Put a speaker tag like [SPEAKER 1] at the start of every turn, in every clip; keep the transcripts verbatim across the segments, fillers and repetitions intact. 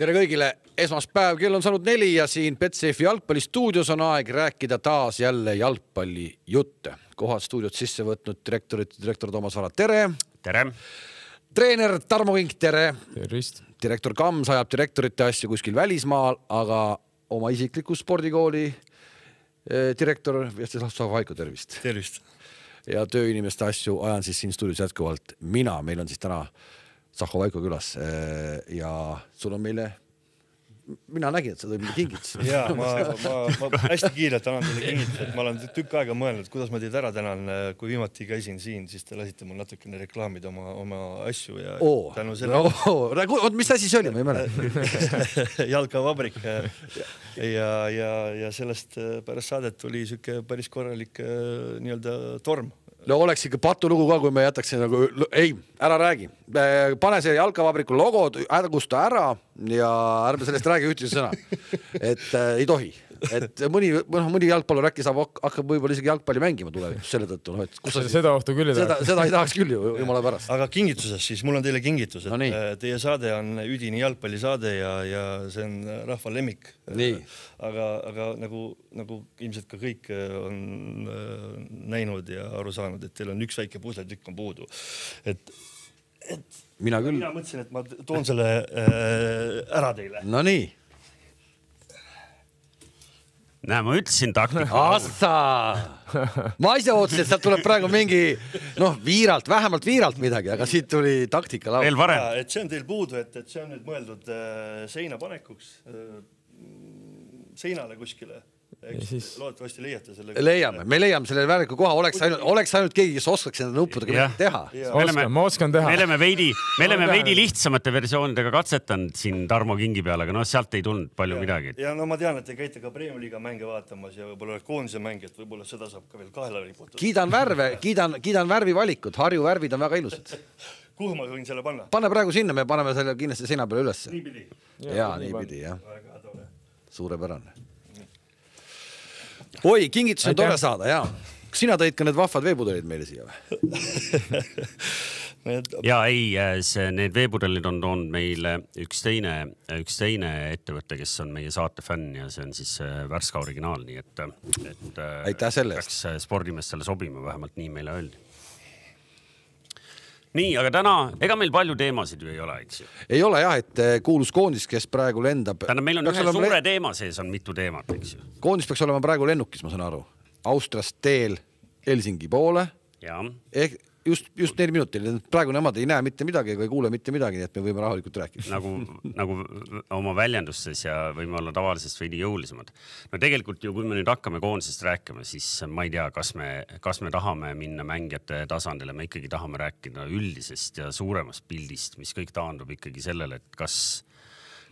[SPEAKER 1] Tere kõigile, esmaspäev, kell on saanud neli ja siin Betsafe jalgpallistuudios on aeg rääkida taas jälle jalgpalli jutte. Kohad stuudiot sisse võtnud direktorit, direktor Toomas Vara, tere!
[SPEAKER 2] Tere!
[SPEAKER 1] Treener Tarmo Kink, tere!
[SPEAKER 3] Tervist!
[SPEAKER 1] Direktor Kams ajab direktorite asju kuskil välismaal, aga oma isikliku spordikooli direktor Vjestislav Vaiko, tervist!
[SPEAKER 4] Tervist!
[SPEAKER 1] Ja tööinimeste asju ajan siis siin stuudios jätkuvalt mina, meil on siis täna Sahho Vaiko külas ja sul on meile, mina nägin, et sa tõi meile kingits.
[SPEAKER 4] Jaa, ma, ma, ma hästi kiirelt annan teile kingits, et ma olen tükk aega mõelnud, kuidas ma teid ära tänan, kui viimati käisin siin, siis te lasite mul natukene reklaamid oma, oma asju ja
[SPEAKER 1] Oo,
[SPEAKER 4] tänu selle...
[SPEAKER 1] Oo, oot, mis asi see oli, ma ei mäleta.
[SPEAKER 4] Jalkavabrik ja, ja, ja sellest pärast saadet tuli süke päris korralik nii-öelda torm.
[SPEAKER 1] No oleks ikka patulugu ka, kui me jätaks nagu, ei, ära räägi. Pane see jalkavabriku logo, ärgusta ära ja ärme sellest räägi ühtise sõna. Et äh, ei tohi. Et mõni, mõni jalgpallur äkki saab hakkab võib-olla isegi jalgpalli mängima tulevikus selle tõttu. No, kus sa
[SPEAKER 3] seda ohtu küll ei
[SPEAKER 1] seda,
[SPEAKER 3] tahaks.
[SPEAKER 1] Seda ei tahaks küll ju, jumala pärast.
[SPEAKER 4] Aga kingituses siis, mul on teile kingitus, et
[SPEAKER 1] no
[SPEAKER 4] teie saade on üdini jalgpallisaade ja, ja see on rahva lemmik.
[SPEAKER 1] Nii.
[SPEAKER 4] Aga, aga nagu, nagu ilmselt ka kõik on näinud ja aru saanud, et teil on üks väike pusletükk on puudu. Et, et
[SPEAKER 1] mina küll.
[SPEAKER 4] Mina mõtlesin, et ma toon selle äh, ära teile.
[SPEAKER 1] No nii.
[SPEAKER 2] Näe, ma ütlesin taktika.
[SPEAKER 1] Assa! Ma ise ootsin, et sealt tuleb praegu mingi, noh, viiralt, vähemalt viiralt midagi, aga siit tuli taktika laud.
[SPEAKER 2] Veel varem.
[SPEAKER 4] Ja, et see on teil puudu, et, et see on nüüd mõeldud äh, seina panekuks, äh, seinale kuskile. Siis... Loodetavasti leiate selle.
[SPEAKER 1] Leiame, me leiame selle vääriku koha, oleks ainult, oleks ainult keegi, kes oskaks enda nuppudega midagi teha.
[SPEAKER 3] Ma oskan, ma oskan teha.
[SPEAKER 2] Me oleme veidi, me oleme veidi lihtsamate versioonidega katsetanud siin Tarmo Kingi peale, aga no sealt ei tulnud palju
[SPEAKER 4] ja,
[SPEAKER 2] midagi.
[SPEAKER 4] Ja no ma tean, et te käite ka Premium-liiga mänge vaatamas ja võib-olla koondise mänge, et võib-olla seda saab ka veel kahele riputada.
[SPEAKER 1] Kiidan värve, kiidan, kiidan värvi valikut, Harju värvid on väga ilusad.
[SPEAKER 4] Kuhu ma võin selle panna?
[SPEAKER 1] Pane praegu sinna, me paneme selle kindlasti seina peale üles.
[SPEAKER 4] Nii pidi.
[SPEAKER 1] Jaa, nii pidi, jah. Suurepärane. Oi, kingitus on tore saada, jaa. Kas sina tõid ka need vahvad veepudelid meile siia või?
[SPEAKER 2] Ja ei, see, need veepudelid on toonud meile üks teine, üks teine ettevõtte, kes on meie saate fänn ja see on siis Värska originaal, nii et, et
[SPEAKER 1] aitäh selle eest.
[SPEAKER 2] Peaks spordimeestele sobima, vähemalt nii meile öeldi. Nii, aga täna, ega meil palju teemasid ju ei ole, eks ju?
[SPEAKER 1] Ei ole jah, et kuulus koondis, kes praegu lendab.
[SPEAKER 2] Täna meil on ühe suure le... teema sees on mitu teemat, eks ju?
[SPEAKER 1] Koondis peaks olema praegu lennukis, ma saan aru. Austriast teel Helsingi poole.
[SPEAKER 2] Ja.
[SPEAKER 1] Ehk just, just neli minutil. Praegu nemad ei näe mitte midagi ega ei kuule mitte midagi, nii et me võime rahulikult rääkida.
[SPEAKER 2] Nagu, nagu oma väljendustes ja võime olla tavalisest veidi jõulisemad. No tegelikult ju, kui me nüüd hakkame koondisest rääkima, siis ma ei tea, kas me, kas me tahame minna mängijate tasandile. Me ikkagi tahame rääkida üldisest ja suuremast pildist, mis kõik taandub ikkagi sellele, et kas,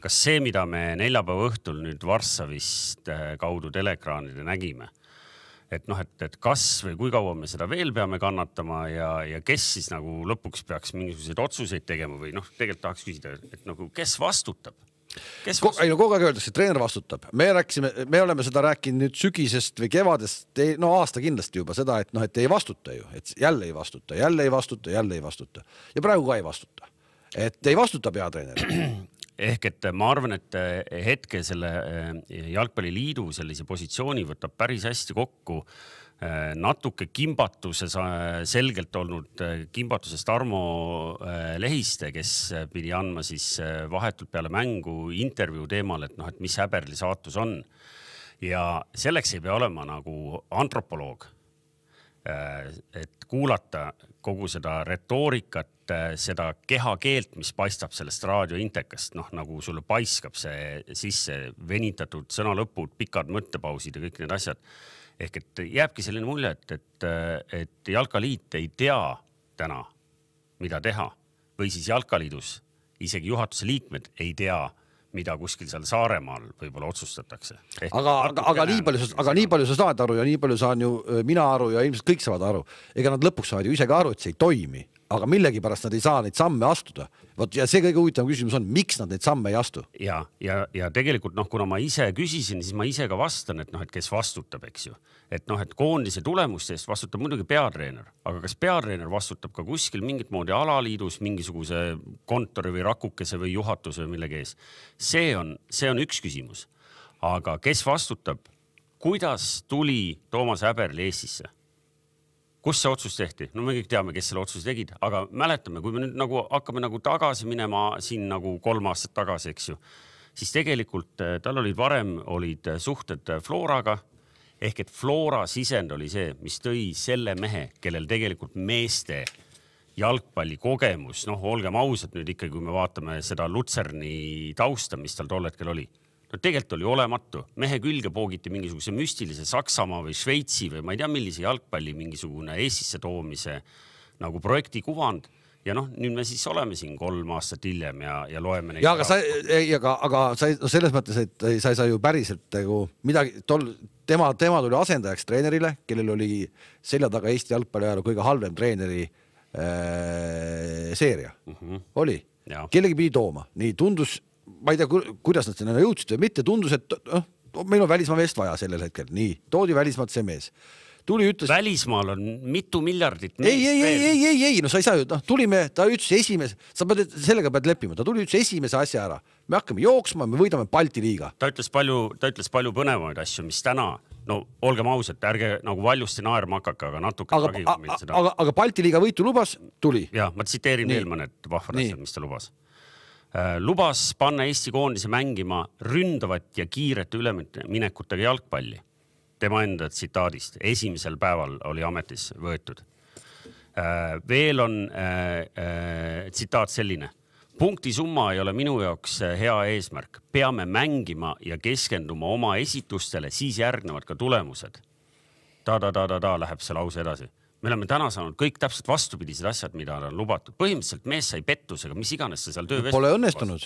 [SPEAKER 2] kas see, mida me neljapäeva õhtul nüüd Varssavist kaudu teleekraanide nägime, et noh, et, et kas või kui kaua me seda veel peame kannatama ja, ja kes siis nagu lõpuks peaks mingisuguseid otsuseid tegema või noh, tegelikult tahaks küsida, et nagu kes vastutab? Kes vastutab?
[SPEAKER 1] Ei, no kogu aeg öeldakse, et treener vastutab. Me rääksime, me oleme seda rääkinud nüüd sügisest või kevadest, no aasta kindlasti juba seda, et noh, et ei vastuta ju, et jälle ei vastuta, jälle ei vastuta, jälle ei vastuta. Ja praegu ka ei vastuta. Et ei vastuta peatreener.
[SPEAKER 2] Ehk et ma arvan, et hetke selle jalgpalliliidu sellise positsiooni võtab päris hästi kokku natuke kimbatuse selgelt olnud kimbatuses Tarmo Lehiste, kes pidi andma siis vahetult peale mängu intervjuu teemal, et noh, et mis Häberli saatus on. Ja selleks ei pea olema nagu antropoloog, et kuulata kogu seda retoorikat, seda kehakeelt, mis paistab sellest raadiointekast, noh, nagu sulle paiskab see sisse venitatud sõnalõpud, pikad mõttepausid ja kõik need asjad. Ehk et jääbki selline mulje, et, et, et Jalkaliit ei tea täna, mida teha. Või siis Jalkaliidus isegi juhatuse liikmed ei tea, mida kuskil seal Saaremaal võib-olla otsustatakse.
[SPEAKER 1] Ehk aga, aga, aga, nii palju, aga nii palju sa saad aru ja nii palju saan ju mina aru ja ilmselt kõik saavad aru. Ega nad lõpuks saavad ju ise ka aru, et see ei toimi. aga millegi pärast nad ei saa neid samme astuda. Vot, ja see kõige huvitavam küsimus on, miks nad neid samme ei astu?
[SPEAKER 2] Ja, ja, ja tegelikult, noh, kuna ma ise küsisin, siis ma ise ka vastan, et noh, et kes vastutab, eks ju. Et noh, et koondise tulemuste eest vastutab muidugi peatreener, aga kas peatreener vastutab ka kuskil mingit moodi alaliidus mingisuguse kontori või rakukese või juhatuse või millegi ees? See on, see on üks küsimus. Aga kes vastutab, kuidas tuli Toomas Häberli Eestisse? Kus see otsus tehti? No me kõik teame, kes selle otsuse tegid, aga mäletame, kui me nüüd nagu hakkame nagu tagasi minema siin nagu kolm aastat tagasi, eks ju, siis tegelikult tal olid varem olid suhted Floraga, ehk et Flora sisend oli see, mis tõi selle mehe, kellel tegelikult meeste jalgpalli kogemus, noh, olgem ausad nüüd ikkagi, kui me vaatame seda Lutserni tausta, mis tal tol hetkel oli. No tegelikult oli olematu. Mehe külge poogiti mingisuguse müstilise Saksamaa või Šveitsi või ma ei tea, millise jalgpalli mingisugune Eestisse toomise nagu projekti kuvand. Ja noh, nüüd me siis oleme siin kolm aastat hiljem ja, ja loeme neid.
[SPEAKER 1] Ja, aga, sa, ei, aga, aga sa, no selles mõttes, et sa ei saa ju päriselt nagu midagi, tol, tema, tema tuli asendajaks treenerile, kellel oli selja taga Eesti jalgpalli ajal kõige halvem treeneri äh, seeria. Mm-hmm. Oli. Ja. Kellegi pidi tooma. Nii tundus ma ei tea, kuidas nad sinna jõudsid või mitte, tundus, et oh, meil on välismaa meest vaja sellel hetkel. Nii, toodi välismaalt see mees. Tuli ütles... Välismaal
[SPEAKER 2] on mitu miljardit
[SPEAKER 1] meest. Ei, ei, ei, ei, ei, ei, no sa ei saa ju, noh, tulime, ta ütles esimese, sa pead, sellega pead leppima, ta tuli ütles esimese asja ära. Me hakkame jooksma, me võidame Balti liiga.
[SPEAKER 2] Ta ütles palju, ta ütles palju põnevamaid asju, mis täna, no olgem ausad, ärge nagu valjusti naerma hakake, aga natuke
[SPEAKER 1] aga, aga, seda... aga, aga Balti liiga võitu lubas, tuli.
[SPEAKER 2] Ja, ma tsiteerin veel mõned vahvad asjad, mis ta lubas. Lubas panna Eesti koondise mängima ründavat ja kiiret üleminekutega jalgpalli. Tema enda tsitaadist. Esimesel päeval oli ametis võetud. Veel on äh, äh, tsitaat selline. Punkti summa ei ole minu jaoks hea eesmärk. Peame mängima ja keskenduma oma esitustele, siis järgnevad ka tulemused. Ta-ta-ta-ta-ta läheb see lause edasi. Me oleme täna saanud kõik täpselt vastupidised asjad, mida on lubatud. Põhimõtteliselt mees sai pettusega, mis iganes see seal töö vestus.
[SPEAKER 1] Pole õnnestunud.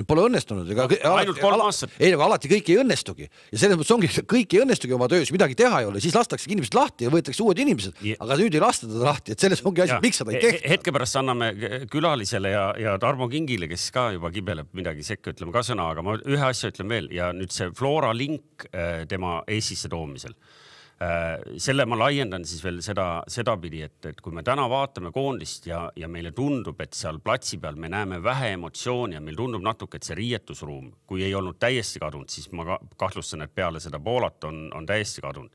[SPEAKER 1] Pole õnnestunud. Ega,
[SPEAKER 2] no, ainult kolm aastat.
[SPEAKER 1] Ei, aga alati kõik ei õnnestugi. Ja selles mõttes ongi, kõik ei õnnestugi oma töös, midagi teha ei ole. Siis lastakse inimesed lahti ja võetakse uued inimesed. Ja. Aga nüüd ei lasta teda lahti. Et selles ongi asi, miks seda ei tehta.
[SPEAKER 2] Hetke pärast anname külalisele ja, ja Tarmo Kingile, kes ka juba kibeleb midagi sekka, ütleme ka sõna, aga ma ühe asja ütlen veel. Ja nüüd see Flora link tema Eestisse toomisel. Selle ma laiendan siis veel seda, seda pidi, et, et kui me täna vaatame koondist ja, ja meile tundub, et seal platsi peal me näeme vähe emotsiooni ja meil tundub natuke, et see riietusruum, kui ei olnud täiesti kadunud, siis ma kahtlustan, et peale seda Poolat on, on täiesti kadunud.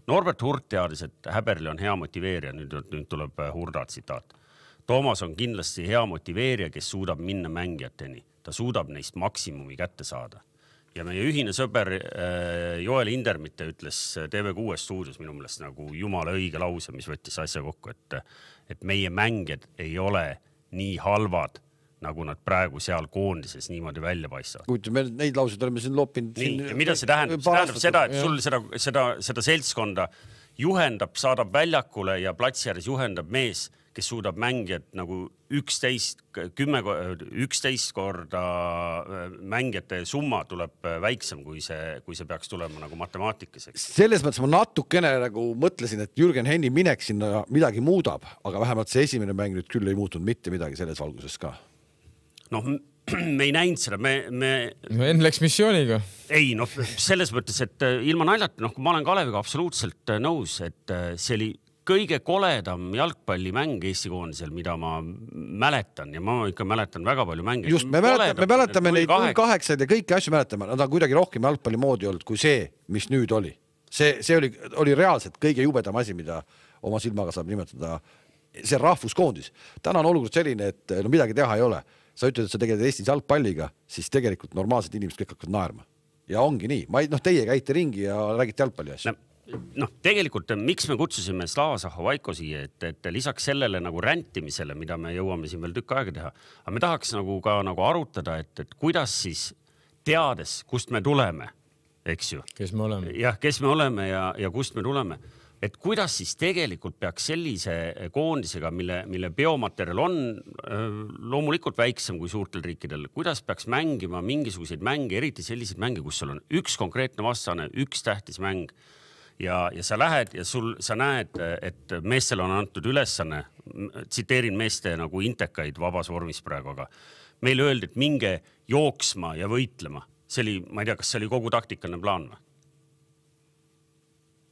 [SPEAKER 2] Norbert Hurt teadis, et Häberli on hea motiveerija, nüüd, nüüd tuleb Hurda tsitaat. Toomas on kindlasti hea motiveerija, kes suudab minna mängijateni. Ta suudab neist maksimumi kätte saada. Ja meie ühine sõber Joel Indermitte ütles T V kuus stuudios minu meelest nagu jumala õige lause, mis võttis asja kokku, et, et meie mängijad ei ole nii halvad, nagu nad praegu seal koondises niimoodi välja paistavad.
[SPEAKER 1] Kuid me neid lauseid oleme siin loppinud.
[SPEAKER 2] Nii, siin mida see tähendab? See tähendab seda, et sul seda, seda, seda seltskonda juhendab, saadab väljakule ja platsi ääres juhendab mees, kes suudab mängijad nagu üksteist, kümme, üksteist korda mängijate summa tuleb väiksem, kui see, kui see peaks tulema nagu matemaatikas.
[SPEAKER 1] Selles mõttes ma natukene nagu mõtlesin, et Jürgen Henni minek sinna midagi muudab, aga vähemalt see esimene mäng nüüd küll ei muutunud mitte midagi selles valguses ka.
[SPEAKER 2] Noh, me ei näinud seda, me... me...
[SPEAKER 3] No enne läks missiooniga.
[SPEAKER 2] Ei, noh, selles mõttes, et ilma naljata, noh, kui ma olen Kaleviga absoluutselt nõus, et see oli kõige koledam jalgpallimäng Eesti koondisel, mida ma mäletan ja ma ikka mäletan väga palju mänge.
[SPEAKER 1] Just, me mäletame, me mäletame neid null kaheksa ja kõiki asju mäletame. Nad on kuidagi rohkem jalgpalli moodi olnud kui see, mis nüüd oli. See, see oli, oli reaalselt kõige jubedam asi, mida oma silmaga saab nimetada. See rahvuskoondis. Täna on olukord selline, et no midagi teha ei ole. Sa ütled, et sa tegeled Eestis jalgpalliga, siis tegelikult normaalsed inimesed kõik hakkavad naerma. Ja ongi nii. Ma ei, noh, teie käite ringi ja räägite jalgpalli asju.
[SPEAKER 2] Noh, tegelikult miks me kutsusime Slava Zahovaiko siia, et, et lisaks sellele nagu räntimisele, mida me jõuame siin veel tükk aega teha, aga me tahaks nagu ka nagu arutada, et, et kuidas siis teades, kust me tuleme, eks ju?
[SPEAKER 3] Kes me oleme?
[SPEAKER 2] Jah, kes me oleme ja, ja kust me tuleme. Et kuidas siis tegelikult peaks sellise koondisega, mille, mille biomaterial on loomulikult väiksem kui suurtel riikidel, kuidas peaks mängima mingisuguseid mänge, eriti selliseid mänge, kus sul on üks konkreetne vastane, üks tähtis mäng ja, ja sa lähed ja sul, sa näed, et meestel on antud ülesanne, tsiteerin meeste nagu intekaid vabas vormis praegu, aga meile öeldi, et minge jooksma ja võitlema. See oli, ma ei tea, kas see oli kogu taktikaline plaan või?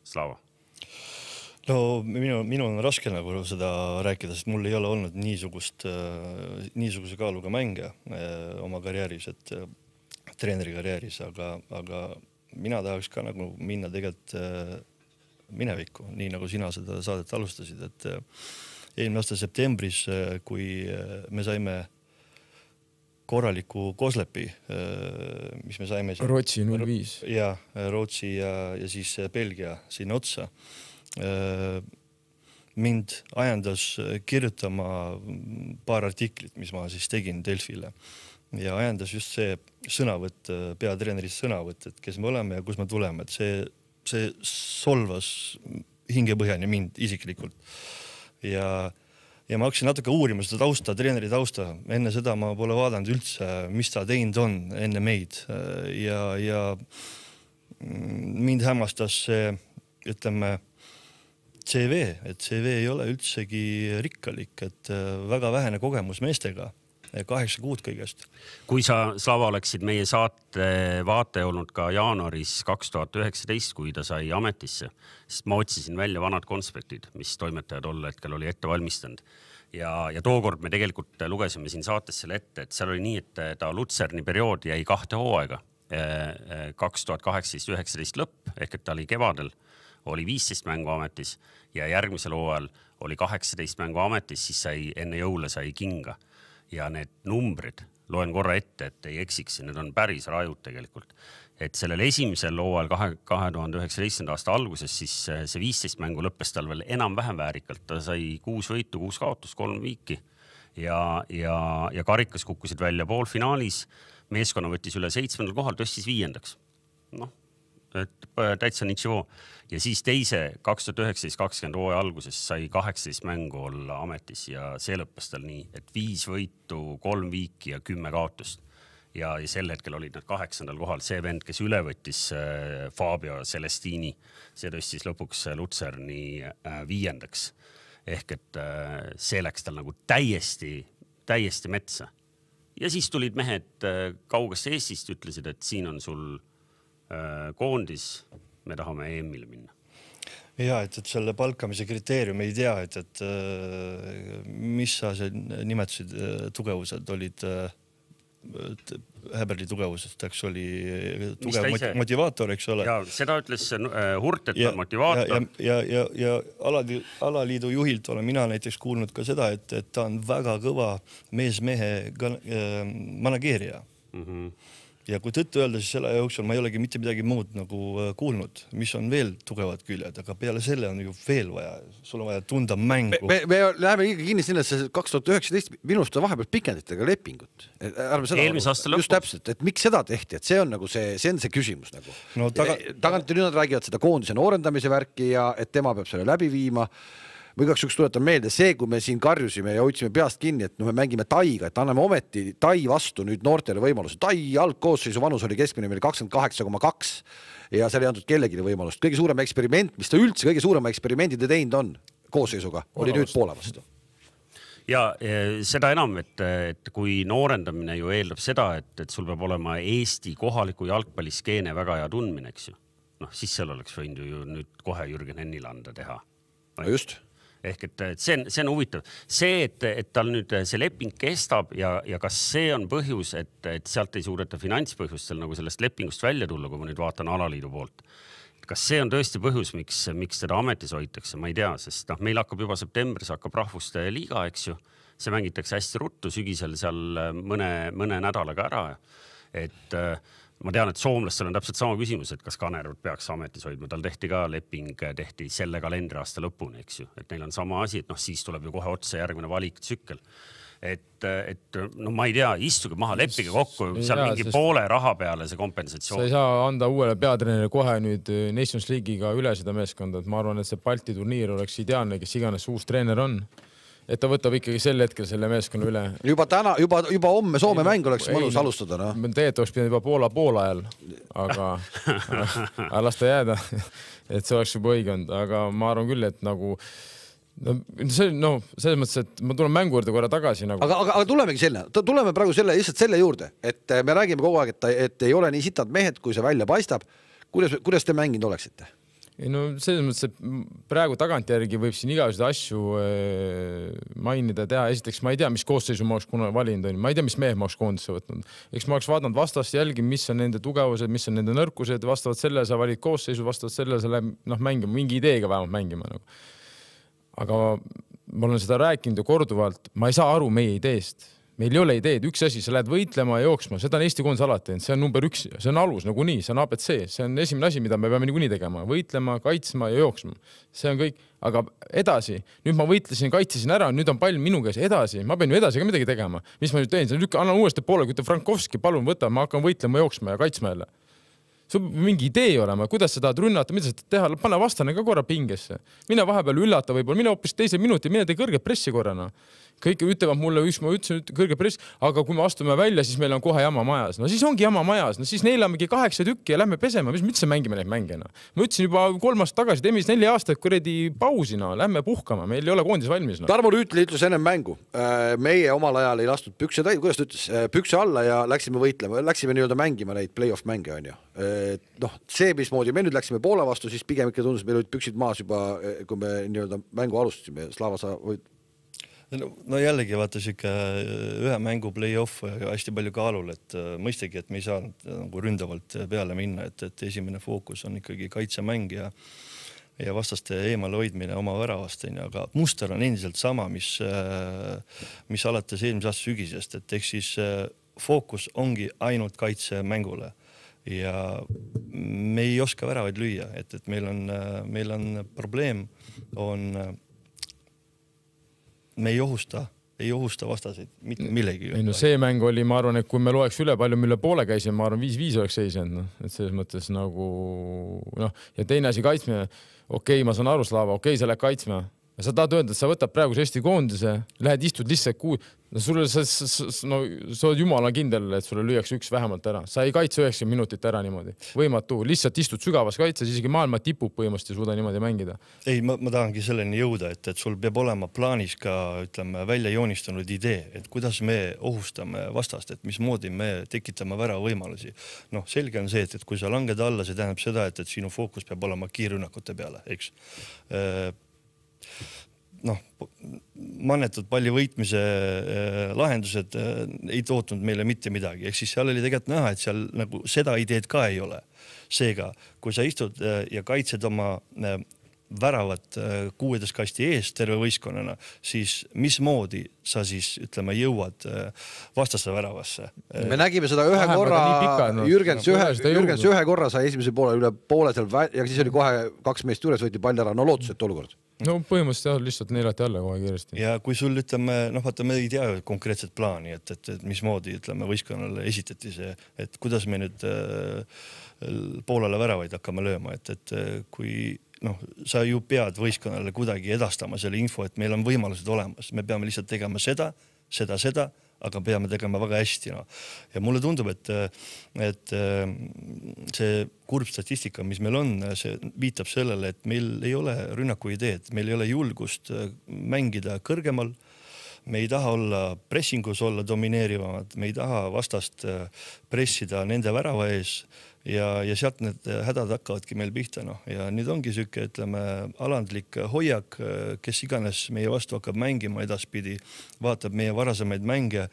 [SPEAKER 2] Slava.
[SPEAKER 4] No minu, minu on raske nagu seda rääkida, sest mul ei ole olnud niisugust, niisuguse kaaluga mänge oma karjääris, et treeneri karjääris, aga, aga mina tahaks ka nagu minna tegelikult minevikku, nii nagu sina seda saadet alustasid, et eelmine aasta septembris, kui me saime korraliku Koslepi, mis me saime siin,
[SPEAKER 3] Rootsi null viis
[SPEAKER 4] ja Rootsi ja, ja siis Belgia sinna otsa. Mind ajendas kirjutama paar artiklit, mis ma siis tegin Delfile ja ajendas just see sõnavõtt, peatreenerist sõnavõtt, et kes me oleme ja kus me tuleme, et see, see solvas hingepõhjani mind isiklikult ja Ja ma hakkasin natuke uurima seda tausta, treeneri tausta. Enne seda ma pole vaadanud üldse, mis ta teinud on enne meid. Ja, ja mind hämmastas see, ütleme, C V, et C V ei ole üldsegi rikkalik, et väga vähene kogemus meestega. Kaheksa kuud kõigest.
[SPEAKER 2] Kui sa, Slava, oleksid meie saate vaate olnud ka jaanuaris kaks tuhat üheksateist, kui ta sai ametisse, sest ma otsisin välja vanad konspektid, mis toimetaja tol hetkel oli ette valmistanud. Ja, ja tookord me tegelikult lugesime siin saates selle ette, et seal oli nii, et ta Lutserni periood jäi kahte hooaega. kaks tuhat kaheksateist üheksateist lõpp, ehk et ta oli kevadel, oli viisteist mängu ametis ja järgmisel hooajal oli kaheksateist mängu ametis, siis sai enne jõule sai kinga. Ja need numbrid, loen korra ette, et ei eksiks, need on päris rajud tegelikult. Et sellel esimesel hooajal kahe tuhande üheksateistkümnenda aasta alguses siis see viisteist mängu lõppes tal veel enam-vähem väärikalt. Ta sai kuus võitu, kuus kaotus, kolm viiki ja, ja, ja karikas kukkusid välja poolfinaalis. Meeskonna võttis üle seitsmendal kohal, tõstis viiendaks. Noh, et täitsa nitšivoo. Ja siis teise kaks tuhat üheksateist kakskümmend hooaja alguses sai kaheksateist mängu olla ametis ja see lõppes tal nii, et viis võitu, kolm viiki ja kümme kaotust. Ja, ja sel hetkel olid nad kaheksandal kohal. See vend, kes üle võttis Fabio Celestini, see tõstis lõpuks Lutserni viiendaks. Ehk et see läks tal nagu täiesti, täiesti metsa. Ja siis tulid mehed kaugast Eestist, ütlesid, et siin on sul koondis, me tahame E M-ile minna.
[SPEAKER 4] Ja, et, et selle palkamise kriteerium ei tea, et, et mis sa see nimetasid tugevused olid, Häberli tugevusest, eks oli tugev motivaator, eks ole.
[SPEAKER 2] Ja seda ütles Hurt, et on motivaator.
[SPEAKER 4] Ja, ja, ja, ja alaliidu juhilt olen mina näiteks kuulnud ka seda, et, et ta on väga kõva mees-mehe manageerija. Mhm. Ja kui tõttu öelda, siis selle jooksul ma ei olegi mitte midagi muud nagu kuulnud, mis on veel tugevad küljed, aga peale selle on ju veel vaja, sul on vaja tunda mängu.
[SPEAKER 1] Me, me läheme ikka kinni sinna, et kaks tuhat üheksateist minust on vahepeal pikenditega lepingut.
[SPEAKER 2] Eelmise aasta lõppu.
[SPEAKER 1] Just täpselt, et miks seda tehti, et see on nagu see, see on see küsimus nagu.
[SPEAKER 4] No, taga...
[SPEAKER 1] Tagant nüüd nad räägivad seda koondise noorendamise värki ja et tema peab selle läbi viima. Või kaks üks tuletan meelde see, kui me siin karjusime ja hoidsime peast kinni, et no me mängime Taiga, et anname ometi Tai vastu nüüd noortele võimaluse. Tai algkoosseisu vanus oli keskmine meil kakskümmend kaheksa koma kaks ja seal ei antud kellegile võimalust. Kõige suurem eksperiment, mis ta üldse kõige suurema eksperimendide teinud on koosseisuga, oli nüüd Poola vastu.
[SPEAKER 2] Ja seda enam, et, et kui noorendamine ju eeldab seda, et, et sul peab olema Eesti kohaliku jalgpalliskeene väga hea tundmine, eks ju. Noh, siis seal oleks võinud ju nüüd kohe Jürgen Hennilanda teha.
[SPEAKER 1] No just.
[SPEAKER 2] Ehk et see on, see on huvitav. See, et, et tal nüüd see leping kestab ja, ja kas see on põhjus, et, et sealt ei suureta finantspõhjustel nagu sellest lepingust välja tulla, kui ma nüüd vaatan alaliidu poolt. Kas see on tõesti põhjus, miks, miks seda ametis hoitakse? Ma ei tea, sest noh, meil hakkab juba septembris hakkab rahvuste liiga, eks ju. See mängitakse hästi ruttu sügisel seal mõne, mõne nädalaga ära. Et ma tean, et soomlastel on täpselt sama küsimus, et kas Kanervat peaks ametis hoidma. Tal tehti ka leping, tehti selle kalendriaasta lõpuni, eks ju. Et neil on sama asi, et noh, siis tuleb ju kohe otsa järgmine valik tsükkel. Et, et no ma ei tea, istuge maha, leppige kokku, seal mingi sest... poole raha peale see kompensatsioon.
[SPEAKER 3] Sa ei saa anda uuele peatreenile kohe nüüd Nations League'iga üle seda meeskonda, et ma arvan, et see Balti turniir oleks ideaalne, kes iganes uus treener on. et ta võtab ikkagi sel hetkel selle meeskonna üle.
[SPEAKER 1] Juba täna, juba, juba homme Soome mäng oleks mõnus alustada. No?
[SPEAKER 3] Tegelikult oleks pidanud juba Poola poole ajal, aga, aga las ta jääda, et see oleks juba õige olnud, aga ma arvan küll, et nagu no, see, no, selles mõttes, et ma tulen mängu juurde korra tagasi. Nagu.
[SPEAKER 1] Aga, aga, aga tulemegi selle, tuleme praegu selle, lihtsalt selle juurde, et me räägime kogu aeg, et, et ei ole nii sitad mehed, kui see välja paistab. Kuidas, kuidas te mänginud oleksite?
[SPEAKER 3] Ei, no selles mõttes, et praegu tagantjärgi võib siin igasuguseid asju äh, mainida, teha. Esiteks ma ei tea, mis koosseisu ma oleks kuna valinud. Ma ei tea, mis mehed ma oleks koondisse võtnud. Eks ma oleks vaadanud vastast jälgi, mis on nende tugevused, mis on nende nõrkused. Vastavalt sellele sa valid koosseisu, vastavalt sellele sa läheb noh, mängima, mingi ideega vähemalt mängima. Nagu. Aga ma olen seda rääkinud ja korduvalt. Ma ei saa aru meie ideest. Meil ei ole ideed, üks asi, sa lähed võitlema ja jooksma, seda on Eesti koondis alati, see on number üks, see on alus nagu nii, see on A B C, see on esimene asi, mida me peame niikuinii tegema, võitlema, kaitsma ja jooksma. See on kõik, aga edasi, nüüd ma võitlesin, kaitsesin ära, nüüd on pall minu käes edasi, ma pean ju edasi ka midagi tegema. Mis ma nüüd teen? Annan uuesti poole, kui te Frankovski, palun võta, ma hakkan võitlema, jooksma ja kaitsma jälle. Sul mingi idee olema, kuidas sa tahad rünnata, mida sa tahad teha, pane vastane ka korra pingesse. Mine vahepeal üllata võib-olla, mine hoopis teise minuti, mine tee kõrge pressi korrana. Kõik ütlevad mulle, üks ma ütlesin kõrge press, aga kui me astume välja, siis meil on kohe jama majas. No siis ongi jama majas, no siis neelamegi kaheksa tükki ja lähme pesema, mis üldse mängime neid mängena. Ma ütlesin juba kolm aastat tagasi, teeme siis neli aastat kuredi pausina, lähme puhkama, meil ei ole koondis valmis. No.
[SPEAKER 1] Tarmo Rüütli ütles ennem mängu. Meie omal ajal ei lastud pükse täid, kuidas ta ütles, pükse alla ja läksime võitlema, läksime nii-öelda mängima neid play-off mänge on ju. noh, see, mismoodi me nüüd läksime Poola vastu, siis pigem ikka tundus, meil olid püksid maas juba, kui me nii-öelda mängu alustasime. Slava, sa võid...
[SPEAKER 4] No, no jällegi vaata siuke ühe mängu play-off hästi palju kaalul, et mõistagi, et me ei saanud nagu ründavalt peale minna, et, et esimene fookus on ikkagi kaitsemäng ja, ja vastaste eemale hoidmine oma väravast, aga muster on endiselt sama, mis, mis alates eelmise aasta sügisest, et ehk siis fookus ongi ainult kaitsemängule ja me ei oska väravaid lüüa, et, et meil on, meil on probleem, on me ei ohusta, ei ohusta vastaseid mitte millegi.
[SPEAKER 3] Ei, no see mäng oli, ma arvan, et kui me loeks üle palju, mille poole käisime, ma arvan, viis viis oleks seisnud, no. Et selles mõttes nagu, noh, ja teine asi kaitsme, okei, ma saan aru, Slava, okei, sa lähed kaitsma. Ja sa tahad öelda, et sa võtab praegu Eesti koondise, lähed istud lihtsalt kuu, no sulle, sa, no, sa oled jumala kindel, et sulle lüüakse üks vähemalt ära. Sa ei kaitse üheksakümmend minutit ära niimoodi. Võimatu, lihtsalt istud sügavas kaitses, isegi maailma tipub põhimõtteliselt ei suuda niimoodi mängida.
[SPEAKER 4] Ei, ma, ma tahangi selleni jõuda, et, et sul peab olema plaanis ka, ütleme, välja joonistunud idee, et kuidas me ohustame vastast, et mismoodi me tekitame vära võimalusi. Noh, selge on see, et, et kui sa langed alla, see tähendab seda, et, et sinu fookus peab olema kiirrünnakute peale, eks. Noh, mannetud palli võitmise lahendused ei tootnud meile mitte midagi. Ehk siis seal oli tegelikult näha, et seal nagu seda ideed ka ei ole. Seega, kui sa istud ja kaitsed oma väravat kuueteist kasti ees terve võistkonnana, siis mismoodi sa siis, ütleme, jõuad vastasse väravasse?
[SPEAKER 1] Me nägime seda ühe korra, Jürgens ühe, Jürgens ühe korra sai esimese poole üle poole seal ja siis oli kohe kaks meest juures, võeti pall ära, no lootuselt olukord.
[SPEAKER 3] No põhimõtteliselt lihtsalt neelati alla kohe kiiresti.
[SPEAKER 4] Ja kui sul, ütleme, noh, vaata, me ei tea konkreetset plaani, et, et, et mismoodi, ütleme, võistkonnale esitati see, et kuidas me nüüd äh, poolele väravaid hakkame lööma, et, et kui noh, sa ju pead võistkonnale kuidagi edastama selle info, et meil on võimalused olemas. Me peame lihtsalt tegema seda, seda, seda, aga peame tegema väga hästi. No. Ja mulle tundub, et, et see kurb statistika, mis meil on, see viitab sellele, et meil ei ole rünnaku ideed, meil ei ole julgust mängida kõrgemal, me ei taha olla pressingus olla domineerivamad, me ei taha vastast pressida nende värava ees ja, ja sealt need hädad hakkavadki meil pihta. No. Ja nüüd ongi süke, ütleme, alandlik hoiak, kes iganes meie vastu hakkab mängima edaspidi, vaatab meie varasemaid mänge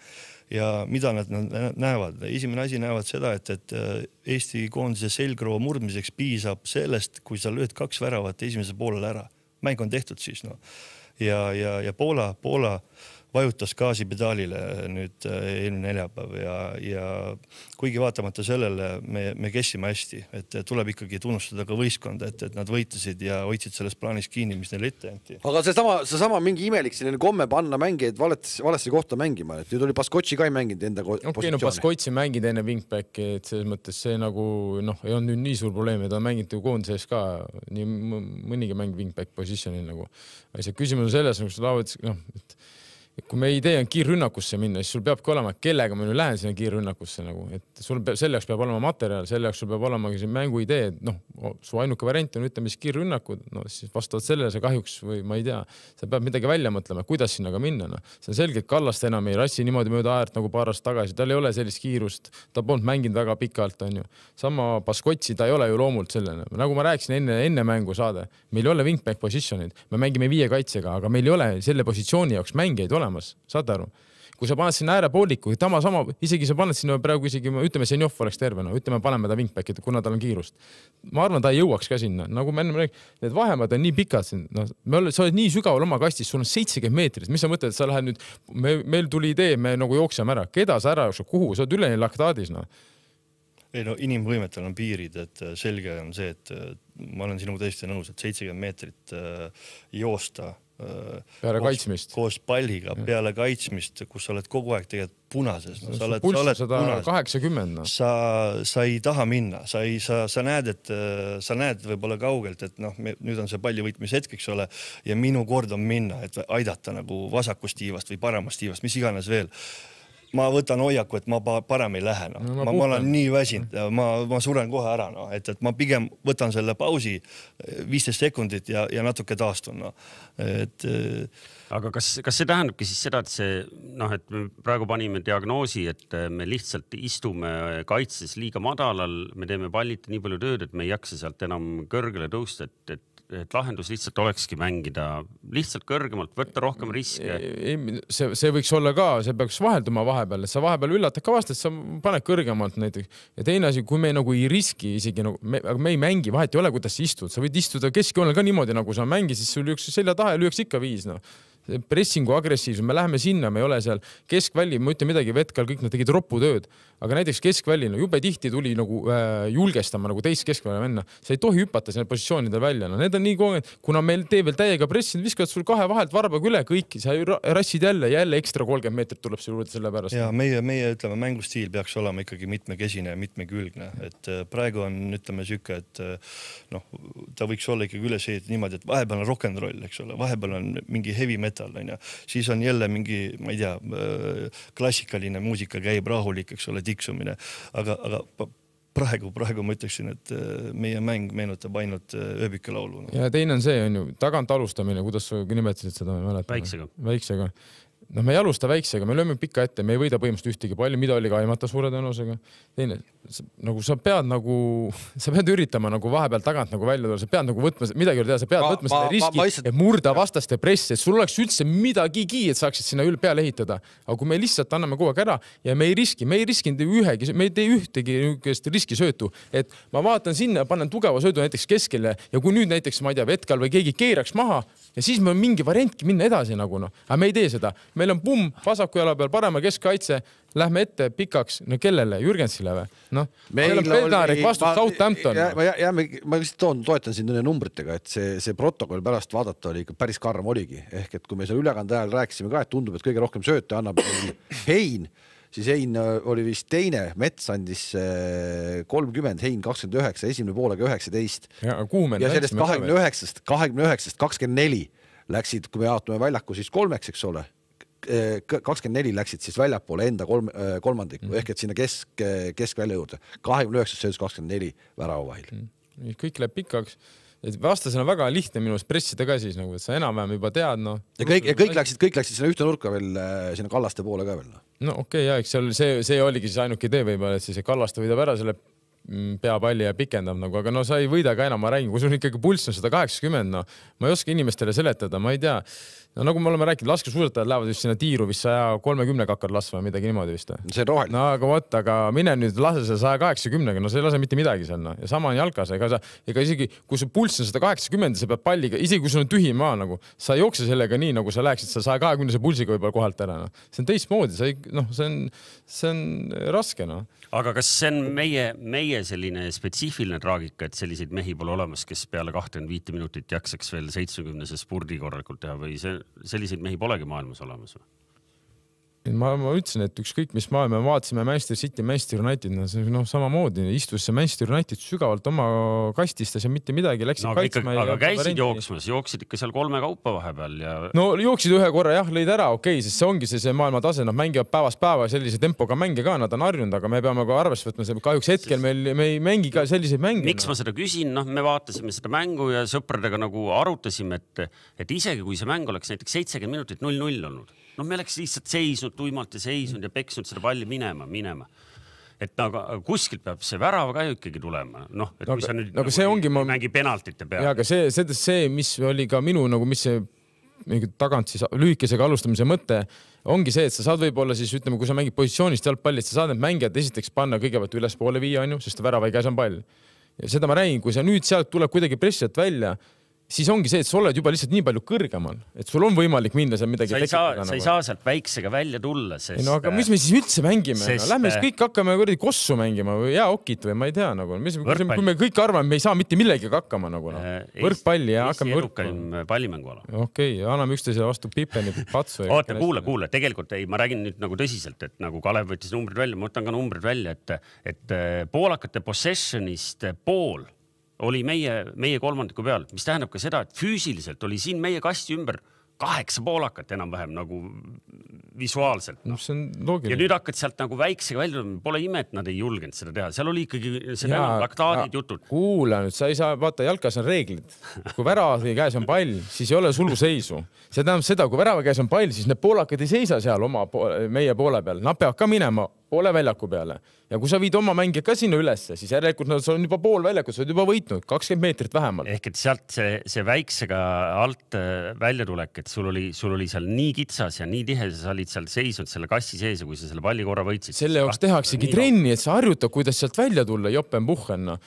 [SPEAKER 4] ja mida nad näevad. Esimene asi näevad seda, et, et Eesti koondise selgroo murdmiseks piisab sellest, kui sa lööd kaks väravat esimese poolele ära. Mäng on tehtud siis. No. Ja, ja, ja Poola, Poola vajutas gaasipedaalile nüüd eelmine neljapäev ja, ja kuigi vaatamata sellele me, me kessime hästi, et tuleb ikkagi tunnustada ka võistkonda, et, et nad võitlesid ja hoidsid selles plaanis kinni, mis neile ette anti.
[SPEAKER 1] Aga see sama, see sama mingi imelik selline komme panna mängijaid valesti, valesti kohta mängima, et nüüd oli Baskotši ka ei mänginud enda
[SPEAKER 3] okay,
[SPEAKER 1] positsiooni.
[SPEAKER 3] No Baskotši mängid enne wingbacki, et selles mõttes see nagu, noh, ei on nüüd nii suur probleem, ta on mänginud koondises ka nii mõnigi mäng wingback positsionil nagu. See küsimus on selles, nagu sa laavad, noh, et kui me idee on kiirrünnakusse minna, siis sul peabki olema, kellega ma nüüd lähen sinna kiirrünnakusse nagu, et sul peab, selle jaoks peab olema materjal, selle jaoks sul peab olema siin mängu idee, et noh, su ainuke variant on ütleme siis kiirrünnakud, no siis vastavalt sellele see kahjuks või ma ei tea, sa peab midagi välja mõtlema, kuidas sinna ka minna, noh. See on selgelt Kallast enam ei rassi niimoodi mööda äärt nagu paar aastat tagasi, tal ei ole sellist kiirust, ta polnud mänginud väga pikalt, on ju. Sama Baskotši, ta ei ole ju loomult sellene. Nagu ma rääkisin enne, enne mängu saade, meil ei ole wingback positionid, me mängime viie kaitsega, aga meil ei ole selle positsiooni jaoks mängijaid ole. Saad aru? Kui sa paned sinna äärepooliku, tama sama, isegi sa paned sinna praegu isegi, ütleme, Senjov oleks terve, no ütleme, paneme ta wingback, kuna tal on kiirust. Ma arvan, ta ei jõuaks ka sinna. Nagu me enne räägime, need vahemad on nii pikad siin. No, me oleme, sa oled nii sügaval oma kastis, sul on seitsekümmend meetrit. Mis sa mõtled, et sa lähed nüüd, me, meil tuli idee, me nagu jookseme ära. Keda sa ära jookseb? Kuhu? Sa oled üleni laktaadis, no.
[SPEAKER 4] Ei no inimvõimetel on piirid, et selge on see, et ma olen sinuga tõesti nõus, et seitsekümmend meetrit joosta
[SPEAKER 3] peale
[SPEAKER 4] koos,
[SPEAKER 3] kaitsmist
[SPEAKER 4] koos palliga ja. Peale kaitsmist, kus sa oled kogu aeg tegelikult punases, no, sa oled,
[SPEAKER 3] pulss
[SPEAKER 4] sa oled
[SPEAKER 3] sada kaheksakümmend, no.
[SPEAKER 4] sa, sa ei taha minna, sa, ei, sa, sa näed, et sa näed võib-olla kaugelt, et noh, nüüd on see palli võitmise hetk, eks ole, ja minu kord on minna, et aidata nagu vasakust tiivast või paramast tiivast, mis iganes veel. Ma võtan hoiaku, et ma parem ei lähe, no. No, ma, ma, ma olen nii väsinud, ma, ma suren kohe ära, no. et, et ma pigem võtan selle pausi viisteist sekundit ja, ja natuke taastun, no. Et,
[SPEAKER 2] aga kas, kas see tähendabki siis seda, et see, noh, et me praegu panime diagnoosi, et me lihtsalt istume kaitses liiga madalal, me teeme pallita nii palju tööd, et me ei jaksa sealt enam kõrgele tõusta, et, et et lahendus lihtsalt olekski mängida lihtsalt kõrgemalt, võtta rohkem riske.
[SPEAKER 3] See, see võiks olla ka, see peaks vahelduma vahepeal, et sa vahepeal üllatad ka vast, et sa paned kõrgemalt näiteks. Ja teine asi, kui me nagu ei riski isegi, nagu, me, aga me ei mängi, vahet ei ole, kuidas sa istud. Sa võid istuda keskjoonel ka niimoodi, nagu sa mängi, siis sul üks selja taha ja lüüks ikka viis, no. Pressingu agressiivsus, me läheme sinna, me ei ole seal keskvälli, ma ütlen midagi, Vetkal kõik nad tegid ropputööd, aga näiteks keskvälli, no jube tihti tuli nagu äh, julgestama nagu teist keskvälja venna. Sa ei tohi hüpata selle positsioonide välja, no need on nii kogenud, kuna meil tee veel täiega pressid, viskavad sul kahe vahelt varbaga üle kõik, sa rassid jälle, jälle ekstra kolmkümmend meetrit tuleb selle juurde selle pärast.
[SPEAKER 4] Ja meie, meie ütleme, mängustiil peaks olema ikkagi mitmekesine ja mitmekülgne, et praegu on, ütleme, süke, et noh, ta võiks olla ikkagi üles ehitud niimoodi, et vahepeal on rock'n'roll, eks ole, vahepeal on mingi heavy metal, on ja. Siis on jälle mingi, ma ei tea, klassikaline muusika käib rahulik, eks ole, tiksumine, aga, aga praegu, praegu ma ütleksin, et meie mäng meenutab ainult ööbikelaulu.
[SPEAKER 3] Ja teine on see, on ju, tagant alustamine, kuidas sa nimetasid seda?
[SPEAKER 2] Väiksega.
[SPEAKER 3] Väiksega. No me ei alusta väiksega, me lööme pika ette, me ei võida põhimõtteliselt ühtegi palli, mida oli ka aimata suure tõenäosusega. Teine, nagu sa pead nagu, sa pead üritama nagu vahepeal tagant nagu välja tulla, sa pead nagu võtma, midagi teha, sa pead ma, võtma seda riski, ma, ma, et murda vastaste pressi, et sul oleks üldse midagigi, et saaksid sinna üle peale ehitada. Aga kui me lihtsalt anname kogu aeg ära ja me ei riski, me ei riskinud ühegi, me ei tee ühtegi riskisöötu, et ma vaatan sinna, panen tugeva söödu näiteks keskele ja kui nüüd näiteks, ma ei tea, Vetkal või keegi keeraks maha ja siis me on mingi variantki minna edasi nagu noh, aga me ei tee seda. Meil on pumm vasaku jala peal, parema keskkaitse, lähme ette pikaks, no kellele, Jürgensile või? Noh, meil on Pednarik vastus Southampton.
[SPEAKER 1] Ja, ja, ja, ma lihtsalt toon, toetan siin numbritega, et see, see protokoll pärast vaadata oli ikka päris karm oligi. Ehk, et kui me seal ülekande ajal rääkisime ka, et tundub, et kõige rohkem sööte annab Hein, siis Hein oli vist teine, Mets andis kolmkümmend, Hein kakskümmend üheksa, esimene poolega üheksateist. Ja, ja sellest kahekümne üheksast, kahekümne üheksast, kakskümmend neli läksid, kui me jaotume väljaku, siis kolmeks, eks ole, kakskümmend neli läksid siis väljapoole enda kolm, kolmandiku, ehk et sinna kesk, keskvälja juurde. kahekümne üheksast söödus kakskümmend neli värava vahil.
[SPEAKER 3] Kõik läheb pikaks. Vastasena on väga lihtne minust pressida ka siis, nagu, et sa enam-vähem juba tead. No.
[SPEAKER 1] Ja kõik, ja kõik, läksid, kõik läksid sinna ühte nurka veel, sinna Kallaste poole ka veel. No,
[SPEAKER 3] no okei, okay, ja eks seal see, see oligi siis ainuke idee võib-olla, et siis Kallaste võidab ära selle peapalli ja pikendab nagu, aga no sa ei võida ka enam, ma räägin, kui sul ikkagi pulss on sada kaheksakümmend, no ma ei oska inimestele seletada, ma ei tea. No nagu me oleme rääkinud, laskesuusatajad lähevad vist sinna tiiru vist saja kolmekümne kakkad lasva või midagi niimoodi vist.
[SPEAKER 1] See on roheline.
[SPEAKER 3] No aga võt, aga mine nüüd lase selle saja kaheksakümnega, no see ei lase mitte midagi seal. No. Ja sama on jalkas, ega, sa, ega isegi kui su pulss on sada kaheksakümmend, sa pead palliga, isegi kui sul on tühi maa, nagu, sa ei jookse sellega nii, nagu sa läheksid sa saja kahekümne pulsiga võib-olla kohalt ära. No. See on teistmoodi, sa ei, noh, see on, see on raske. No.
[SPEAKER 2] Aga kas see on meie, meie selline spetsiifiline traagika, et selliseid mehi pole olemas, kes peale kakskümmend viis minutit jaksaks veel seitsmekümnese spurdi korralikult teha või see, selliseid mehi polegi maailmas olemas või?
[SPEAKER 3] Ma, ma ütlesin, et ükskõik mis maailma vaatasime Manchester City, Manchester United, no, see, no samamoodi istus see Manchester United sügavalt oma kastistas ja mitte midagi läksid
[SPEAKER 2] no, kaitsma. Aga, aga käisid jooksmas, jooksid ikka seal kolme kaupa vahepeal ja...
[SPEAKER 3] No jooksid ühe korra jah, lõid ära, okei, sest see ongi see, see maailma tase, nad mängivad päevast päeva sellise tempoga mänge ka, nad on harjunud, aga me peame ka arvesse võtma, see kahjuks hetkel meil, me ei mängi ka selliseid mänge.
[SPEAKER 2] Miks ma seda küsin? No, me vaatasime seda mängu ja sõpradega nagu arutasime, et, et isegi kui see mäng oleks näiteks seitsekümmend minutit null null olnud, no me oleks lihtsalt seisnud tuimalt ja seisnud ja peksnud seda palli minema, minema. Et aga kuskilt peab see värav ka ju ikkagi tulema. Noh, et
[SPEAKER 3] no,
[SPEAKER 2] kui sa nüüd
[SPEAKER 3] nagu see ongi, ma...
[SPEAKER 2] mängi penaltite peale.
[SPEAKER 3] Ja, aga see, see, see, mis oli ka minu, nagu mis see tagant siis lühikesega alustamise mõte, ongi see, et sa saad võib-olla siis, ütleme, kui sa mängid positsioonist jalgpallist, sa saad need mängijad esiteks panna kõigepealt üles poole viia, on ju, sest värava ei käes on pall. Ja seda ma räägin, kui sa nüüd sealt tuleb kuidagi pressilt välja, siis ongi see, et sa oled juba lihtsalt nii palju kõrgemal, et sul on võimalik minna seal midagi
[SPEAKER 2] sa ei saa, sa ei saa sealt väiksega välja tulla, sest... No
[SPEAKER 3] aga mis me siis üldse mängime? Sest... No, lähme siis kõik hakkame kuradi kossu mängima või jääokit või ma ei tea, nagu, mis, kui me kõik arvame, me ei saa mitte millegi hakkama, nagu, no. Võrkpalli ja hakkame
[SPEAKER 2] võrkpalli. Pallimänguala.
[SPEAKER 3] Okei, okay, anname üksteisele vastu pipeni patsu.
[SPEAKER 2] Oota, kuule, kuule, tegelikult ei, ma räägin nüüd nagu tõsiselt, et nagu Kalev võttis numbrid välja, ma võtan ka numbrid välja, et, et poolakate possessionist pool oli meie, meie kolmandiku peal, mis tähendab ka seda, et füüsiliselt oli siin meie kasti ümber kaheksa poolakat enam-vähem nagu visuaalselt.
[SPEAKER 3] No, see on loogiline.
[SPEAKER 2] Ja nüüd hakkad sealt nagu väiksega välja, pole ime, et nad ei julgenud seda teha. Seal oli ikkagi see laktaadid jutud.
[SPEAKER 3] Kuula nüüd, sa ei saa, vaata, jalkas on reeglid. Kui värava käes on pall, siis ei ole suluseisu. See tähendab seda, kui värava käes on pall, siis need poolakad ei seisa seal oma, meie poole peal. Nad peavad ka minema poole väljaku peale. Ja kui sa viid oma mängija ka sinna ülesse, siis järelikult nad on juba pool väljakut, sa oled juba võitnud, kakskümmend meetrit vähemalt.
[SPEAKER 2] Ehk et sealt see, see väiksega alt välja tulek, et sul oli, sul oli seal nii kitsas ja nii tihe, sa olid seal seisnud selle kassi sees ja kui sa selle palli korra võitsid.
[SPEAKER 3] Selle jaoks tehaksegi trenni, et sa harjutad, kuidas sealt välja tulla, jopen puhhenna.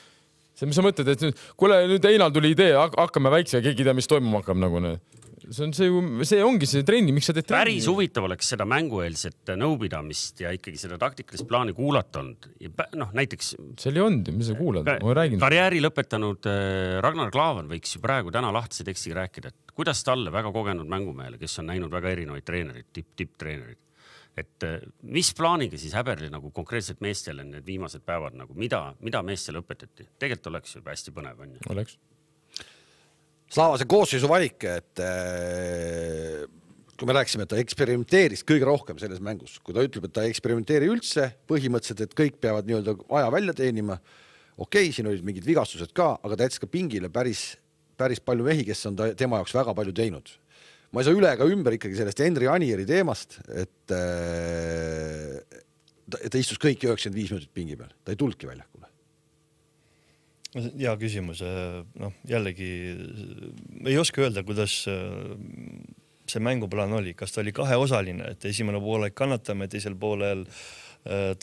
[SPEAKER 3] See, mis sa mõtled, et nüüd, kuule, nüüd Einal tuli idee, hakkame väikse ja keegi tea, mis toimuma hakkab nagu need. See, on see, see ongi see trenni, miks sa teed trenni?
[SPEAKER 2] Päris huvitav oleks seda mängueelset nõupidamist ja ikkagi seda taktikalist plaani kuulata olnud. Noh, näiteks... See
[SPEAKER 3] oli olnud, mis sa kuulad? Ma räägin.
[SPEAKER 2] Karjääri lõpetanud Ragnar Klavan võiks ju praegu täna lahtise tekstiga rääkida, et kuidas talle väga kogenud mängumehele, kes on näinud väga erinevaid treenerid, tipp, tipp treenerid. Et mis plaaniga siis Häberli nagu konkreetselt meestele need viimased päevad, nagu mida, mida meestele õpetati? Tegelikult oleks juba hästi põnev. On ju?
[SPEAKER 3] Oleks.
[SPEAKER 1] Slaava see koosseisu valik, et kui me rääksime, et ta eksperimenteeris kõige rohkem selles mängus, kui ta ütleb, et ta eksperimenteeri üldse, põhimõtteliselt, et kõik peavad nii-öelda aja välja teenima. Okei, siin olid mingid vigastused ka, aga ta jättis ka pingile päris, päris palju mehi, kes on ta, tema jaoks väga palju teinud. Ma ei saa üle ega ümber ikkagi sellest Henri Anieri teemast, et ta istus kõik üheksakümmend viis minutit pingi peal, ta ei tulnudki väljakule.
[SPEAKER 4] Hea küsimus. No, jällegi ei oska öelda, kuidas see mänguplaan oli. Kas ta oli kaheosaline, et esimene poole kannatame, teisel poolel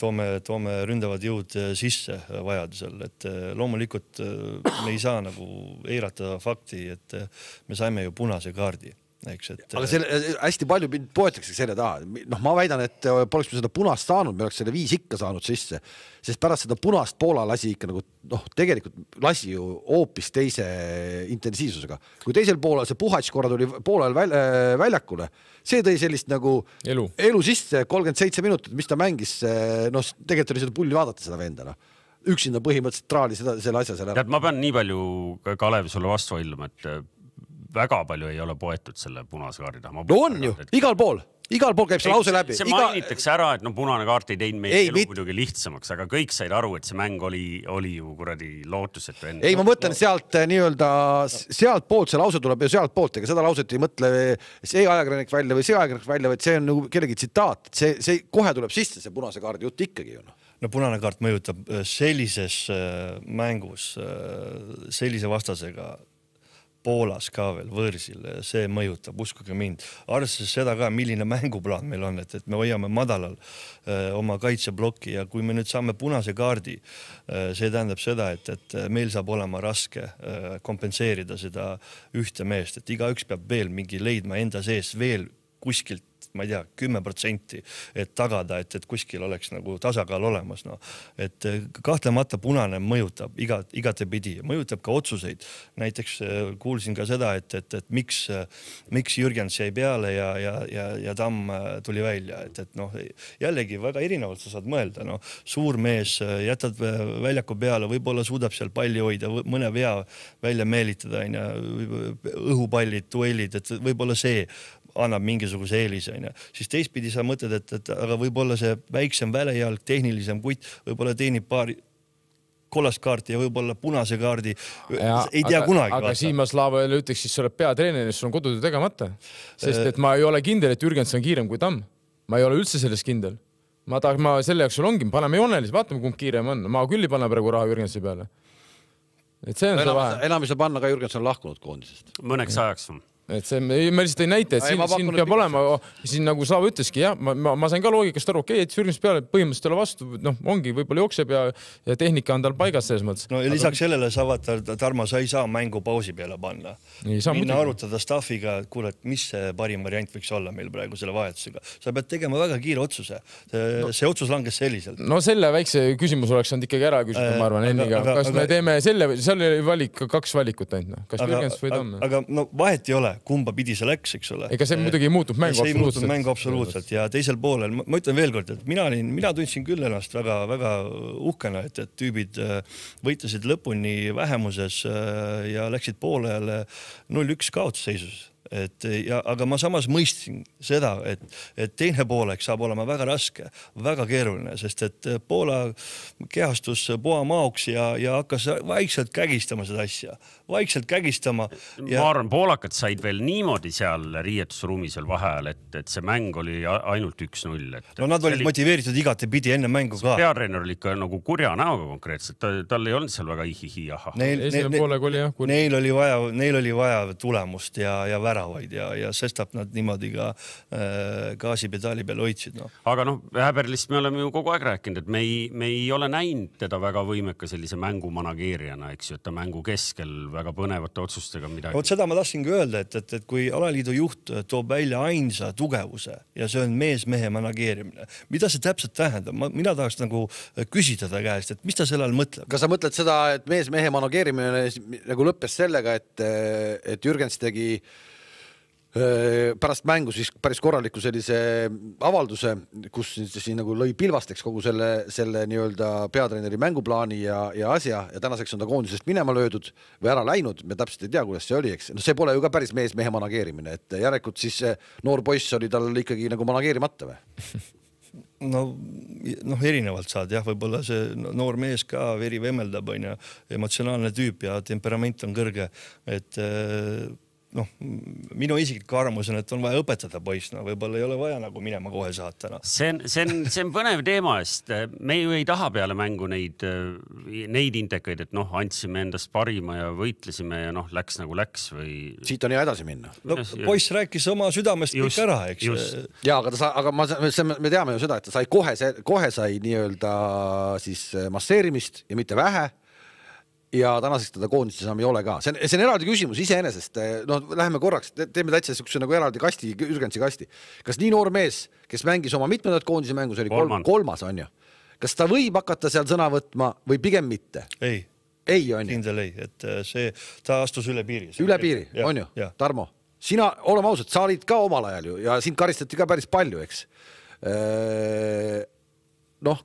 [SPEAKER 4] toome, toome ründavad jõud sisse vajadusel. Et loomulikult me ei saa nagu eirata fakti, et me saime ju punase kaardi. Eks, et...
[SPEAKER 1] Aga selle, hästi palju poetakse selle taha. No, ma väidan, et poleks me seda punast saanud, me oleks selle viis ikka saanud sisse, sest pärast seda punast Poola lasi ikka nagu, noh, tegelikult lasi ju hoopis teise intensiivsusega. Kui teisel poolel see Puhats korra tuli poolel väljakule, see tõi sellist nagu
[SPEAKER 3] elu,
[SPEAKER 1] elu sisse kolmkümmend seitse minutit, mis ta mängis, no tegelikult oli seda pulli vaadata seda vendana. Üksinda põhimõtteliselt traali seda, selle asja selle ära.
[SPEAKER 2] Tead, ma pean nii palju, Kalev, sulle vastu vaidlema, et väga palju ei ole poetud selle punase kaardi taha.
[SPEAKER 1] No on ju, et... igal pool, igal pool käib see lause läbi.
[SPEAKER 2] See
[SPEAKER 1] Iga...
[SPEAKER 2] mainitakse ära, et no punane kaart ei teinud meie elu muidugi lihtsamaks, aga kõik said aru, et see mäng oli, oli ju kuradi lootusetu enne.
[SPEAKER 1] Ei, ma mõtlen sealt nii-öelda, sealt poolt see lause tuleb ju sealt poolt, ega seda lauset ei mõtle see ajakirjanik välja või see ajakirjanik välja, vaid see on nagu kellegi tsitaat. See, see kohe tuleb sisse, see punase kaardi jutt ikkagi ju.
[SPEAKER 4] no punane kaart mõjutab sellises mängus sellise vastasega Poolas ka veel võõrsil, see mõjutab, uskuge mind. Arvestades seda ka, milline mänguplaan meil on, et, et me hoiame madalal öö, oma kaitseblokki ja kui me nüüd saame punase kaardi, see tähendab seda, et, et meil saab olema raske öö, kompenseerida seda ühte meest, et igaüks peab veel mingi leidma enda sees veel kuskilt, ma ei tea, kümme protsenti, et tagada, et, et kuskil oleks nagu tasakaal olemas. No. Et kahtlemata punane mõjutab iga, igatepidi, mõjutab ka otsuseid. Näiteks kuulsin ka seda, et, et, et miks, miks Jürgens jäi peale ja, ja, ja, ja Tamm tuli välja. Et, et noh, jällegi väga erinevalt sa saad mõelda. No. Suur mees, jätad väljaku peale, võib-olla suudab seal palli hoida, mõne vea välja meelitada, õhupallid, duellid, et võib-olla see annab mingisuguse eelise, siis teistpidi sa mõtled, et, et aga võib-olla see väiksem välejalg, tehnilisem kutt, võib-olla teenib paari kollast kaarti ja võib-olla punase kaardi. Ja, ei tea
[SPEAKER 3] aga,
[SPEAKER 4] kunagi.
[SPEAKER 3] Aga Siimas Laavale ütleks, siis sa oled peatreener, sul on kodutöö tegemata. Sest et ma ei ole kindel, et Jürgens on kiirem kui Tamm. Ma ei ole üldse sellest kindel. Ma tahaks, ma selle jaoks sul ongi, paneme joonelis, vaatame, kumb kiirem on. Ma küll ei panna praegu raha Jürgensi peale. Et see on
[SPEAKER 1] enam,
[SPEAKER 3] see vahe.
[SPEAKER 1] Enam ei saa panna, ka Jürgens on lahkunud koondisest.
[SPEAKER 2] Mõneks ajaks on.
[SPEAKER 3] Et see, ma lihtsalt ei näite, et siin, siin peab olema, siin nagu Slava ütleski, jah, ma, ma, ma sain ka loogikast aru, okei, et Jürgens peale põhimõtteliselt ole vastu, noh, ongi, võib-olla jookseb ja, ja tehnika on tal paigas selles mõttes.
[SPEAKER 4] No ja lisaks sellele sa vaata, Tarmo, sa ei saa mängu pausi peale panna. Minna muidugi arutada staffiga, et kuule, et mis see parim variant võiks olla meil praegu selle vahetusega. Sa pead tegema väga kiire otsuse. See, no, see otsus langes selliselt.
[SPEAKER 3] No selle väikse küsimus oleks saanud ikkagi ära küsida, ma arvan, enniga. Kas aga, me teeme selle, seal oli valik, kaks valikut ainult. Kas aga, Jürgens või Tamm?
[SPEAKER 4] Aga no vahet ei ole, kumba pidi see läks, eks ole.
[SPEAKER 3] Ega see muidugi ei muutunud mängu
[SPEAKER 4] absoluutselt. See ei muutunud mängu absoluutselt ja teisel poolel, ma ütlen veel kord, et mina, olin, mina tundsin küll ennast väga, väga uhkena, et, et tüübid võitlesid lõpuni vähemuses ja läksid poolele null üks kaotusseisus. Et, ja, aga ma samas mõistsin seda, et, et teine poolek saab olema väga raske, väga keeruline, sest et Poola kehastus poa maoks ja, ja hakkas vaikselt kägistama seda asja. Vaikselt kägistama.
[SPEAKER 2] Ja... Ma arvan, poolakad said veel niimoodi seal riietusruumis veel vaheajal, et, et see mäng oli ainult üks null. Et,
[SPEAKER 4] no nad olid oli... motiveeritud igati pidi enne mängu ka.
[SPEAKER 2] Peatreener oli ikka nagu kurja näoga konkreetselt. Ta, tal ei olnud seal väga ihihi, aha.
[SPEAKER 3] Neil, neil, neil, jah,
[SPEAKER 4] neil, oli vaja, neil oli vaja tulemust ja, ja vära ja, ja sestap nad niimoodi ka äh, gaasipedaali peal hoidsid. No.
[SPEAKER 2] Aga noh, Häberlist me oleme ju kogu aeg rääkinud, et me ei, me ei ole näinud teda väga võimeka sellise mängu manageerijana, eks ju, et ta mängu keskel väga põnevate otsustega midagi.
[SPEAKER 4] Vot seda ma tahtsingi öelda, et, et, et kui alaliidu juht toob välja ainsa tugevuse ja see on mees-mehe manageerimine, mida see täpselt tähendab? Ma, mina tahaks nagu küsida ta käest, et mis ta selle all mõtleb?
[SPEAKER 1] Kas sa mõtled seda, et mees-mehe manageerimine nagu lõppes sellega, et, et Jürgens tegi pärast mängu siis päris korraliku sellise avalduse, kus siin nagu lõi pilvasteks kogu selle, selle nii-öelda peatreeneri mänguplaani ja, ja asja ja tänaseks on ta koondisest minema löödud või ära läinud, me täpselt ei tea, kuidas see oli, eks. No see pole ju ka päris mees-mehe manageerimine, et järelikult siis noor poiss oli tal ikkagi nagu manageerimata või?
[SPEAKER 4] No, noh, erinevalt saad, jah, võib-olla see noor mees ka veri vemeldab, on ja emotsionaalne tüüp ja temperament on kõrge, et noh, minu isiklik arvamus on, et on vaja õpetada poiss, no võib-olla ei ole vaja nagu minema kohe saata. No.
[SPEAKER 2] See on, see on, see on põnev teema, sest me ju ei taha peale mängu neid, neid intekaid, et noh, andsime endast parima ja võitlesime ja noh, läks nagu läks või...
[SPEAKER 1] Siit on hea edasi minna.
[SPEAKER 4] No, poiss rääkis oma südamest just, kõik ära, eks.
[SPEAKER 2] Just.
[SPEAKER 1] Ja, aga, ta sa, aga ma, me teame ju seda, et ta sai kohe, kohe sai nii-öelda siis masseerimist ja mitte vähe. Ja tänaseks teda koondist saame ei ole ka. See on, see on eraldi küsimus iseenesest. No, läheme korraks, teeme täitsa sükse nagu eraldi kasti, Jürgensi kasti. Kas nii noor mees, kes mängis oma mitmendat koondise mängus, oli kolm, kolmas, on ju? Kas ta võib hakata seal sõna võtma või pigem mitte?
[SPEAKER 4] Ei.
[SPEAKER 1] Ei, on ju?
[SPEAKER 4] Kindel ei, et see, ta astus üle piiri.
[SPEAKER 1] Üle piiri, ja, on ju? Ja. Tarmo, sina, oleme ausad, sa olid ka omal ajal ju ja sind karistati ka päris palju, eks? Noh,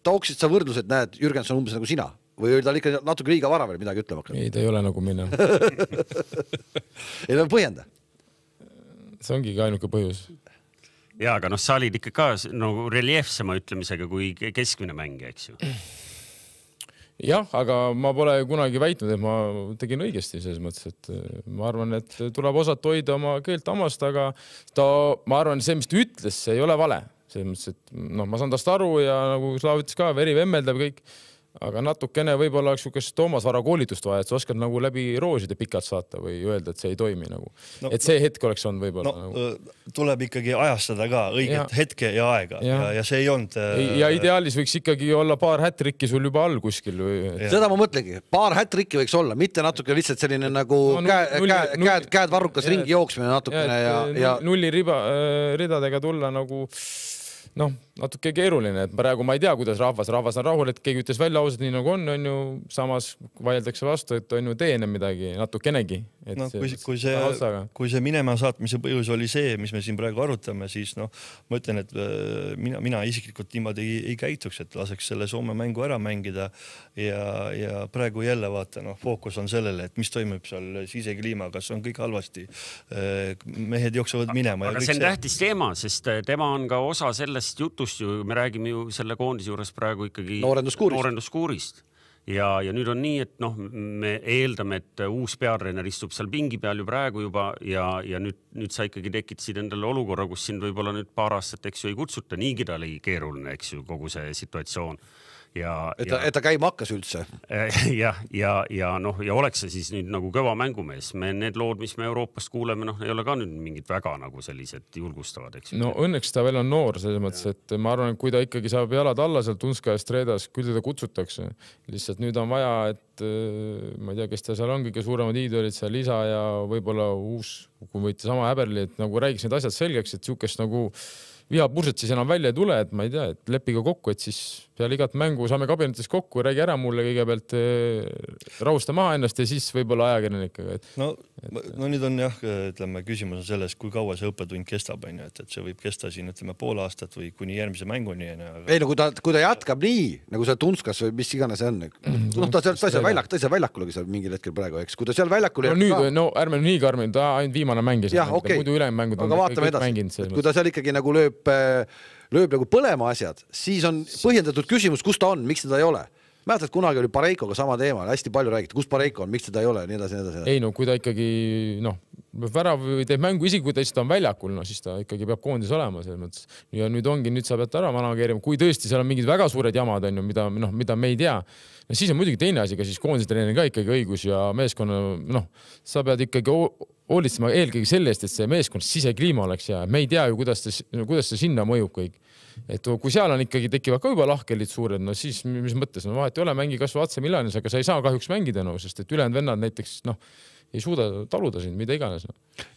[SPEAKER 1] tooksid sa võrdlused, näed, Jürgens on umbes nagu sina. Või oli tal ikka natuke liiga vara veel midagi ütlema hakanud?
[SPEAKER 3] Ei, ta ei ole nagu minna.
[SPEAKER 1] Ei, ta põhjenda.
[SPEAKER 3] See ongi ka ainuke põhjus.
[SPEAKER 2] Ja, aga noh, sa olid ikka ka nagu reljeefsema ütlemisega kui keskmine mängija, eks ju?
[SPEAKER 3] Jah, aga ma pole kunagi väitnud, et ma tegin õigesti selles mõttes, et ma arvan, et tuleb osata hoida oma keelt amast, aga ta, ma arvan, see, mis ta ütles, see ei ole vale. selles mõttes, et noh, ma saan tast aru ja nagu Slaav ütles ka, veri vemmeldab kõik, aga natukene võib-olla oleks niisugust Toomas Vara koolitust vaja, et sa oskad nagu läbi rooside pikalt saata või öelda, et see ei toimi nagu. No, et see hetk oleks olnud võib-olla.
[SPEAKER 4] No,
[SPEAKER 3] nagu.
[SPEAKER 4] Tuleb ikkagi ajastada ka õiget ja. hetke ja aega ja. Ja, ja see ei olnud...
[SPEAKER 3] Ja ideaalis võiks ikkagi olla paar hättrikki sul juba all kuskil. Või...
[SPEAKER 1] Seda ma mõtlengi, paar hättrikki võiks olla, mitte natuke lihtsalt selline nagu no, käed, nulli, käed, nulli, käed, käed varrukas ja, ringi jooksmine natukene ja... ja, ja...
[SPEAKER 3] Nulli riba, ridadega tulla nagu... noh, natuke keeruline, et praegu ma ei tea, kuidas rahvas, rahvas on rahul, et keegi ütles välja ausalt nii nagu on, on ju, samas vaieldakse vastu, et on ju teene midagi natukenegi. Et
[SPEAKER 4] no, kui, kui, see, kui see minema saatmise põhjus oli see, mis me siin praegu arutame, siis noh, ma ütlen, et mina, mina isiklikult niimoodi ei, ei käituks, et laseks selle Soome mängu ära mängida ja, ja praegu jälle vaata, noh, fookus on sellele, et mis toimub seal sisekliima, kas on kõik halvasti. Mehed jooksevad minema.
[SPEAKER 2] Aga see on tähtis teema, sest tema on ka osa sellest jutust ju, me räägime ju selle koondise juures praegu ikkagi
[SPEAKER 1] noorenduskuurist,
[SPEAKER 2] noorenduskuurist. Ja, ja nüüd on nii, et noh, me eeldame, et uus peatreener istub seal pingi peal ju praegu juba ja, ja nüüd, nüüd sa ikkagi tekitasid endale olukorra, kus sind võib-olla nüüd paar aastat, eks ju, ei kutsuta. Niigi ta oli keeruline, eks ju, kogu see situatsioon. Ja,
[SPEAKER 1] et, ta,
[SPEAKER 2] ja,
[SPEAKER 1] et ta käima hakkas üldse.
[SPEAKER 2] Ja, ja, ja, noh, ja oleks see siis nüüd nagu kõva mängumees. Me need lood, mis me Euroopast kuuleme, noh, ei ole ka nüüd mingid väga nagu sellised julgustavad, eks.
[SPEAKER 3] No õnneks ta veel on noor, selles mõttes, et ma arvan, et kui ta ikkagi saab jalad alla seal Tunska ja Stredas, küll teda kutsutakse. Lihtsalt nüüd on vaja, et ma ei tea, kes ta seal on, kõige suuremad iidolid seal Lisa ja võib-olla uus, kui võite sama Häberli, et nagu räägiks need asjad selgeks, et siukest nagu vihapurset siis enam välja ei tule, et ma ei tea, et leppiga kokku, et siis peale igat mängu saame kabinetis kokku, räägi ära mulle kõigepealt, rahusta maha ennast ja siis võib-olla ajakirjanikega. Et,
[SPEAKER 4] no, et, no nüüd on jah, ütleme, küsimus on selles, kui kaua see õppetund kestab, on ju, et, et see võib kesta siin, ütleme, pool aastat või kuni järgmise mänguni. Aga...
[SPEAKER 1] Ei, no kui ta, kui ta jätkab nii, nagu see Tunskas või mis iganes see on, no ta seal, ta seal väljak, ta seal väljakulegi seal mingil hetkel praegu, eks, kui ta seal väljakul
[SPEAKER 3] no, nüüd, no ärme nii karmine, ta ainult viimane mängis.
[SPEAKER 1] Jah, okei, okay. aga vaatame edasi, kui ta seal ikkagi nagu lööb lööb nagu põlema asjad, siis on põhjendatud küsimus, kus ta on, miks teda ei ole. Mäletad, kunagi oli Pareikoga sama teema, hästi palju räägiti, kus Pareiko on, miks teda ei ole, nii edasi, nii edasi.
[SPEAKER 3] Ei no, kui ta ikkagi, noh, värav või teeb mängu isegi, kui ta on väljakul, no siis ta ikkagi peab koondis olema selles mõttes. Ja nüüd ongi, nüüd sa pead ära manageerima, kui tõesti seal on mingid väga suured jamad, on ju, mida, noh, mida me ei tea. No siis on muidugi teine asi, ka siis koondise treener ka ikkagi õigus ja meeskonna, noh, sa pead ikkagi hoolitsema eelkõige selle eest, et see meeskond sisekliima oleks ja me ei tea ju, kuidas see, kuidas see sinna mõjub kõik. Et kui seal on ikkagi tekivad ka juba lahkelid suured, no siis mis mõttes, no vahet ei ole, mängi kasvu Atse Milanis, aga sa ei saa kahjuks mängida, no, sest et ülejäänud vennad näiteks, noh, ei suuda taluda sind, mida iganes. No.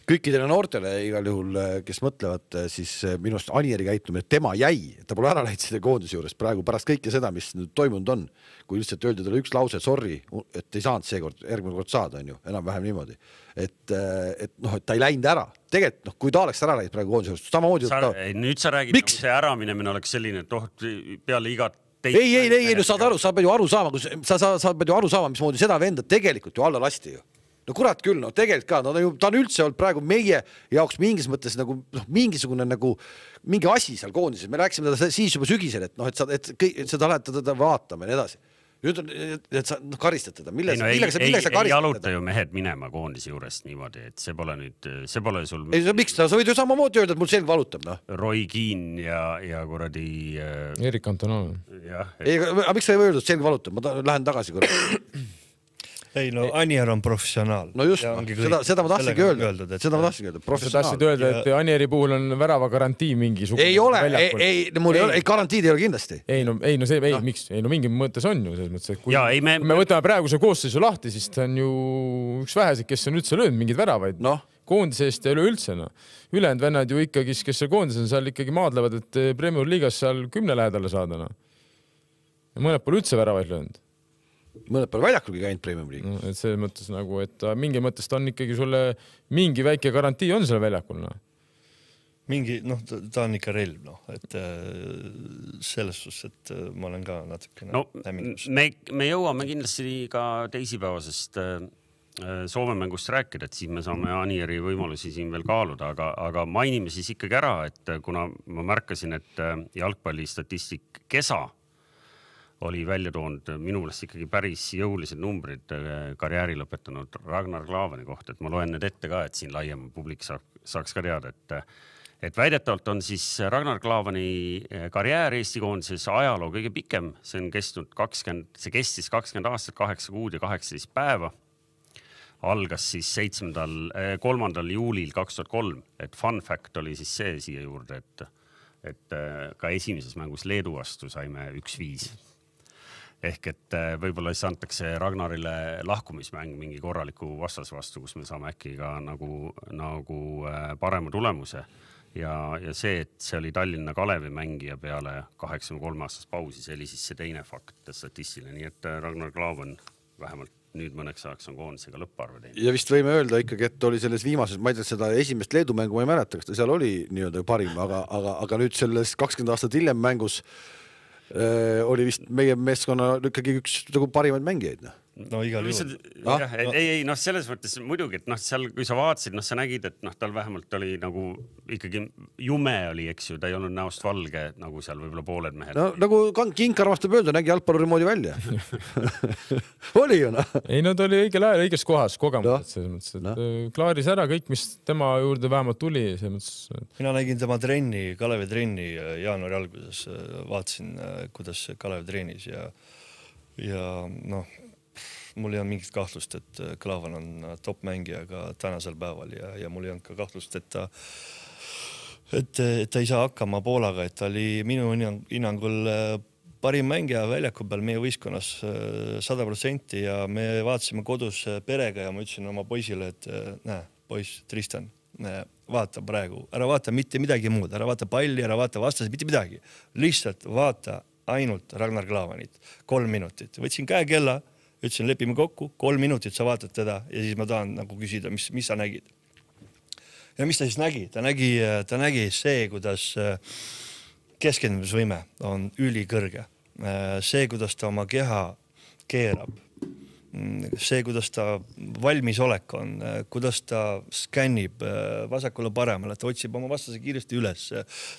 [SPEAKER 1] Kõikidele noortele igal juhul, kes mõtlevad, siis minust Anieri käitumine, tema jäi, ta pole ära läinud selle koondise juures praegu pärast kõike seda, mis nüüd toimunud on, kui lihtsalt öeldi talle üks lause, sorry, et ei saanud seekord, järgmine kord saada, on ju, enam-vähem niimoodi. Et, et noh, et ta ei läinud ära. Tegelikult, noh, kui ta oleks ära läinud praegu koondise juures, samamoodi...
[SPEAKER 2] Sa, ta... Nüüd sa räägid, nagu see äraminemine oleks selline, et oh, peale igat
[SPEAKER 1] Teid ei, ei, ei, ei, no saad aru, sa pead ju aru saama, kus, sa, sa, sa pead ju aru saama, mismoodi seda venda tegelikult ju alla lasti ju. No kurat küll, no tegelikult ka, no ta, ju, ta on üldse olnud praegu meie jaoks mingis mõttes nagu, noh, mingisugune nagu mingi asi seal koondises. Me rääkisime teda siis juba sügisel, et noh, et sa, et, et seda lähed teda vaatama ja nii edasi. Nüüd on, et sa no, karistad teda. Mille,
[SPEAKER 2] ei, no,
[SPEAKER 1] millega,
[SPEAKER 2] ei,
[SPEAKER 1] millega sa karistad
[SPEAKER 2] ei jaluta
[SPEAKER 1] teda?
[SPEAKER 2] Ju mehed minema koondise juurest niimoodi, et see pole nüüd, see pole sul...
[SPEAKER 1] Ei, miks ta, sa võid ju samamoodi öelda, et mul selg valutab, noh.
[SPEAKER 2] Roy Keane ja, ja kuradi... Äh...
[SPEAKER 3] Erik Antonov.
[SPEAKER 2] Jah.
[SPEAKER 1] Et... Ei, aga miks sa ei või öelda, et selg valutab? Ma ta, lähen tagasi korra.
[SPEAKER 4] Ei, no Anier on professionaal.
[SPEAKER 1] No just, no, seda, seda ma tahtsingi öelda. Öeldud, et... Seda ma tahtsingi öelda, professionaal.
[SPEAKER 3] Sa tahtsid öelda, et Anieri puhul on värava garantii mingi sugu.
[SPEAKER 1] Ei ole, ei, ei, mul ei, ei ole, ei garantiid ei ole kindlasti.
[SPEAKER 3] Ei, no, ei, no see, ei, no. Miks? Ei, no mingi mõttes on ju selles mõttes, et kui,
[SPEAKER 2] ja, ei, me...
[SPEAKER 3] kui me võtame praeguse koosseisu lahti, siis ta on ju üks vähesid, kes on üldse löönud mingid väravaid.
[SPEAKER 1] No.
[SPEAKER 3] Koondise eest ei ole üldse, no. Ülejäänud vennad ju ikkagi, kes seal koondis on, seal ikkagi maadlevad, et Premier Liigas seal kümne lähedale saada, no. Ja mõned pole üldse väravaid löönud.
[SPEAKER 1] Mõned pole väljakulgi käinud Premium League.
[SPEAKER 3] No, et selles mõttes nagu, et mingi mõttes ta on ikkagi sulle mingi väike garantii on selle väljakul. No.
[SPEAKER 4] Mingi, noh, ta on ikka relv, noh, et selles suhtes, et ma olen ka natuke...
[SPEAKER 2] No, me, me jõuame kindlasti ka teisipäevasest Soome mängust rääkida, et siis me saame Anieri võimalusi siin veel kaaluda, aga, aga mainime siis ikkagi ära, et kuna ma märkasin, et jalgpallistatistik Kesa oli välja toonud minu meelest ikkagi päris jõulised numbrid karjääri lõpetanud Ragnar Klavani kohta, et ma loen need ette ka, et siin laiem publik saaks ka teada, et, et väidetavalt on siis Ragnar Klavani karjäär Eesti koondises ajaloo kõige pikem, see on kestnud kakskümmend, see kestis kakskümmend aastat, kaheksa kuud ja kaheksateist päeva. Algas siis seitsmendal, kolmandal juulil kaks tuhat kolm, et fun fact oli siis see siia juurde, et, et ka esimeses mängus Leedu vastu saime üks viis. Ehk et võib-olla siis antakse Ragnarile lahkumismäng mingi korraliku vastas vastu, kus me saame äkki ka nagu, nagu parema tulemuse. Ja, ja see, et see oli Tallinna Kalevi mängija peale kaheksakümne kolme aastast pausi, see oli siis see teine fakt statistiline. Nii et Ragnar Klavan vähemalt nüüd mõneks ajaks on koondisega lõpparve teinud.
[SPEAKER 1] Ja vist võime öelda ikkagi, et oli selles viimases, ma ei tea, seda esimest Leedu mängu ma ei mäleta, kas ta seal oli nii-öelda parim, aga, aga, aga nüüd selles kakskümmend aastat hiljem mängus äh, oli vist meie meeskonna ikkagi üks nagu parimaid mängijaid.
[SPEAKER 4] No igal juhul.
[SPEAKER 2] Ah? Ei, ei, noh, selles mõttes muidugi, et noh, seal, kui sa vaatasid, noh, sa nägid, et noh, tal vähemalt oli nagu ikkagi jume oli, eks ju, ta ei olnud näost valge, nagu seal võib-olla pooled mehed.
[SPEAKER 1] No, nagu Kinkar vastab öelda, nägi jalgpalluri moodi välja. oli ju, noh.
[SPEAKER 3] Ei, no ta oli õigel ajal õiges kohas kogemused, selles mõttes, et no. klaaris ära kõik, mis tema juurde vähemalt tuli. Mõttes, et...
[SPEAKER 4] Mina nägin tema trenni, Kalevi trenni jaanuari alguses, vaatasin, kuidas Kalev treenis ja, ja noh, mul ei olnud mingit kahtlust, et Klavan on top mängija ka tänasel päeval ja, ja mul ei olnud ka kahtlust, et ta, et, et ta ei saa hakkama Poolaga, et ta oli minu hinnangul parim mängija väljaku peal meie võistkonnas sada protsenti ja me vaatasime kodus perega ja ma ütlesin oma poisile, et näe, poiss Tristan, näe, vaata praegu, ära vaata mitte midagi muud, ära vaata palli, ära vaata vastase, mitte midagi. Lihtsalt vaata ainult Ragnar Klavanit, kolm minutit. Võtsin käekella, ütlesin, lepime kokku, kolm minutit sa vaatad teda ja siis ma tahan nagu küsida, mis, mis sa nägid. Ja mis ta siis nägi? Ta nägi, ta nägi see, kuidas keskendumisvõime on ülikõrge. See, kuidas ta oma keha keerab. See, kuidas ta valmisolek on, kuidas ta skännib vasakule paremale, ta otsib oma vastase kiiresti üles,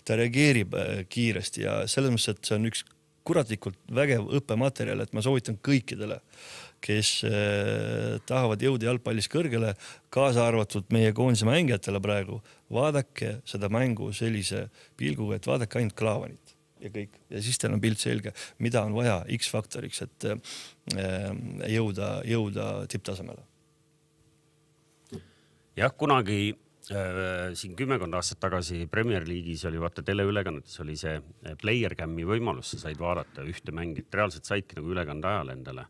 [SPEAKER 4] ta reageerib kiiresti ja selles mõttes, et see on üks kuratlikult vägev õppematerjal, et ma soovitan kõikidele, kes eh, tahavad jõuda jalgpallis kõrgele, kaasa arvatud meie koondise mängijatele praegu, vaadake seda mängu sellise pilguga, et vaadake ainult Klavanit ja kõik. Ja siis teil on pilt selge, mida on vaja X-faktoriks, et eh, jõuda, jõuda tipptasemele.
[SPEAKER 2] Jah, kunagi siin kümmekond aastat tagasi Premier League'is oli vaata teleülekannetes oli see player cam'i võimalus, sa said vaadata ühte mängit, reaalselt saidki nagu ülekande ajal endale,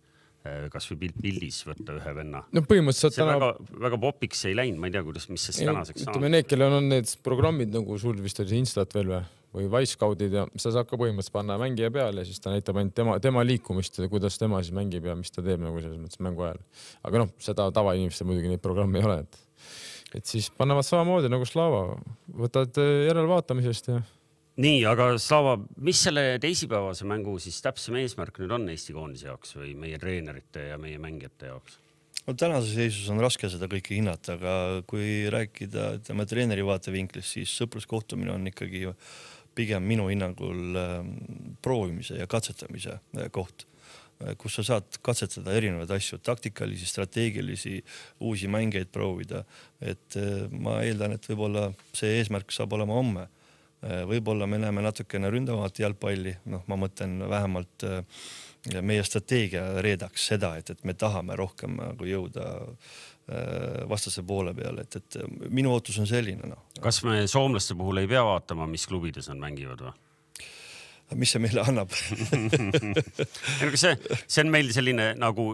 [SPEAKER 2] kas või pildis võtta ühe venna.
[SPEAKER 3] No põhimõtteliselt
[SPEAKER 2] see täna... väga, väga popiks ei läinud, ma ei tea, kuidas, mis see tänaseks saanud.
[SPEAKER 3] Ütleme, need, kellel on need programmid nagu sul vist oli Instat veel või, või Wisecoutid ja sa saad ka põhimõtteliselt panna mängija peale ja siis ta näitab ainult tema, tema liikumist ja kuidas tema siis mängib ja mis ta teeb nagu selles mõttes mängu ajal. Aga noh, seda tavainimestel muidugi neid programmi ei ole, et et siis pannevad samamoodi nagu Slava, võtad järelvaatamisest ja...
[SPEAKER 2] Nii, aga Slava, mis selle teisipäevase mängu siis täpsem eesmärk nüüd on Eesti koondise jaoks või meie treenerite ja meie mängijate jaoks?
[SPEAKER 4] No, tänase seisus on raske seda kõike hinnata, aga kui rääkida tema treeneri vaatevinklist, siis sõpruskohtumine on ikkagi pigem minu hinnangul proovimise ja katsetamise koht, kus sa saad katsetada erinevaid asju, taktikalisi, strateegilisi, uusi mängeid proovida. Et ma eeldan, et võib-olla see eesmärk saab olema homme. Võib-olla me näeme natukene ründavamat jalgpalli, noh, ma mõtlen vähemalt meie strateegia reedaks seda, et, et me tahame rohkem nagu jõuda vastase poole peale, et, et minu ootus on selline. No.
[SPEAKER 2] Kas me soomlaste puhul ei pea vaatama, mis klubides nad mängivad või?
[SPEAKER 4] Mis see meile annab?
[SPEAKER 2] see, see on meil selline nagu,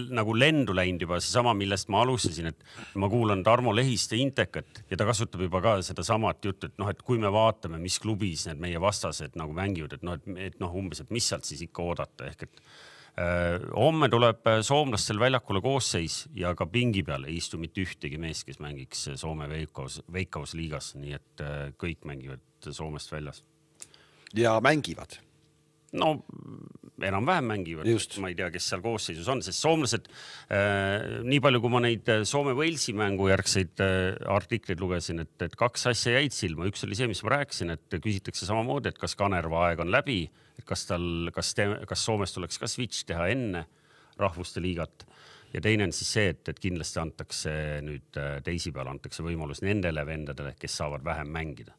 [SPEAKER 2] nagu lendu läinud juba see sama, millest ma alustasin, et ma kuulan Tarmo Lehiste Intekat ja ta kasutab juba ka seda samat juttu, et noh, et kui me vaatame, mis klubis need meie vastased nagu mängivad, et noh, et, et noh, umbes, et mis sealt siis ikka oodata, ehk et äh, homme tuleb soomlastel väljakule koosseis ja ka pingi peal ei istu mitte ühtegi mees, kes mängiks Soome Veikkaus, Veikkaus liigas, nii et äh, kõik mängivad Soomest väljas.
[SPEAKER 1] Ja mängivad.
[SPEAKER 2] No enam-vähem mängivad. Just. Ma ei tea, kes seal koosseisus on, sest soomlased, äh, nii palju kui ma neid Soome-Velsi mängu järgseid äh, artikleid lugesin, et, et kaks asja jäid silma. Üks oli see, mis ma rääkisin, et küsitakse samamoodi, et kas Kanerva aeg on läbi, et kas, tal, kas, te, kas Soomest tuleks ka switch teha enne rahvuste liigat. Ja teine on siis see, et, et kindlasti antakse nüüd teisipäeval antakse võimalus nendele vendadele, kes saavad vähem mängida.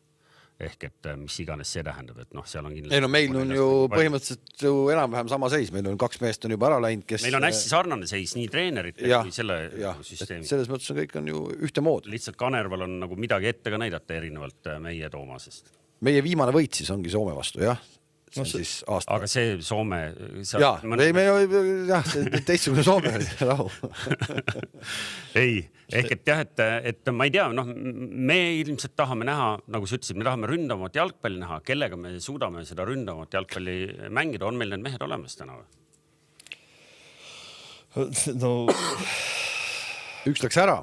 [SPEAKER 2] ehk et mis iganes see tähendab, et noh, seal on kindlasti...
[SPEAKER 1] Ei no meil on ju põhimõtteliselt ju enam-vähem sama seis, meil on kaks meest on juba ära läinud, kes...
[SPEAKER 2] Meil on hästi sarnane seis, nii treenerid kui selle
[SPEAKER 1] ja,
[SPEAKER 2] süsteemi.
[SPEAKER 1] Selles mõttes on kõik on ju ühte mood.
[SPEAKER 2] Lihtsalt Kanerval on nagu midagi ette ka näidata erinevalt meie Toomasest.
[SPEAKER 1] Meie viimane võit siis ongi Soome vastu, jah? See no, siis aasta.
[SPEAKER 2] Aga see Soome...
[SPEAKER 1] Jaa, mõne... me, jah, see teistsugune Soome oli, rahu.
[SPEAKER 2] Ei, ehk et jah, et, et ma ei tea, noh, me ilmselt tahame näha, nagu sa ütlesid, me tahame ründavat jalgpalli näha, kellega me suudame seda ründavat jalgpalli mängida, on meil need mehed olemas täna või?
[SPEAKER 4] No...
[SPEAKER 1] Üks läks ära.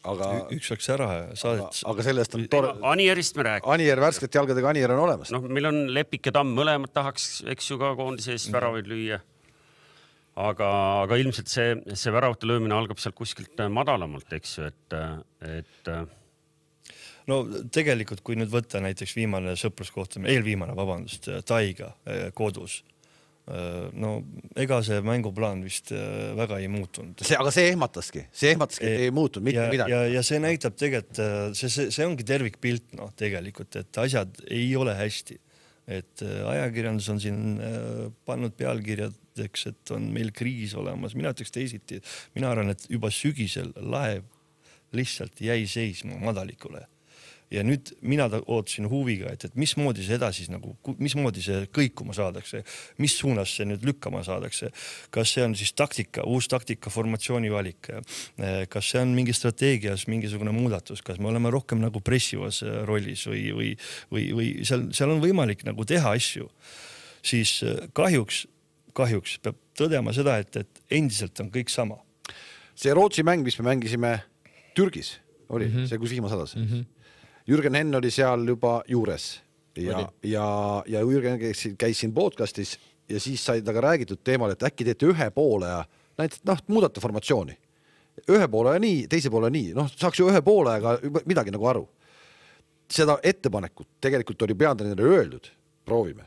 [SPEAKER 1] Aga,
[SPEAKER 4] üks läks ära
[SPEAKER 1] saadet. Aga, aga sellest on tore...
[SPEAKER 2] Anierist me räägime.
[SPEAKER 1] Anier, värskelt jalgadega Anier on olemas.
[SPEAKER 2] No, meil on Lepik ja Tamm, mõlemad tahaks, eks ju ka koondise eest väravaid lüüa. Aga, aga ilmselt see, see väravate löömine algab sealt kuskilt madalamalt, eks ju, et, et...
[SPEAKER 4] No tegelikult, kui nüüd võtta näiteks viimane sõpruskohtumine, eelviimane, vabandust, Taiga kodus, no ega see mänguplaan vist väga ei muutunud.
[SPEAKER 1] See, aga see ehmataski, see ehmataski, ei muutunud mitte
[SPEAKER 4] ja,
[SPEAKER 1] midagi.
[SPEAKER 4] Ja, ja see näitab tegelikult, see, see, see ongi tervikpilt, noh, tegelikult, et asjad ei ole hästi. Et ajakirjandus on siin pannud pealkirjadeks, et on meil kriis olemas. Mina ütleks teisiti, mina arvan, et juba sügisel laev lihtsalt jäi seisma madalikule. Ja nüüd mina ootasin huviga, et, et mismoodi see edasi, nagu, mismoodi see kõikuma saadakse, mis suunas see nüüd lükkama saadakse. Kas see on siis taktika, uus taktika, formatsiooni valik, kas see on mingi strateegias mingisugune muudatus, kas me oleme rohkem nagu pressivas rollis või, või, või, või seal, seal on võimalik nagu teha asju. Siis kahjuks, kahjuks peab tõdema seda, et, et endiselt on kõik sama.
[SPEAKER 1] See Rootsi mäng, mis me mängisime Türgis, oli mm -hmm. see, kus vihma sadas. Mm -hmm. Jürgen Henn oli seal juba juures ja, ja, ja Jürgen käis, käis siin podcastis ja siis sai taga räägitud teemal, et äkki teete ühe poole ja näiteks, noh, muudate formatsiooni. Ühe poole ja nii, teise poole nii. Noh, saaks ju ühe poole, aga midagi nagu aru. Seda ettepanekut tegelikult oli peatreenerile öeldud, proovime.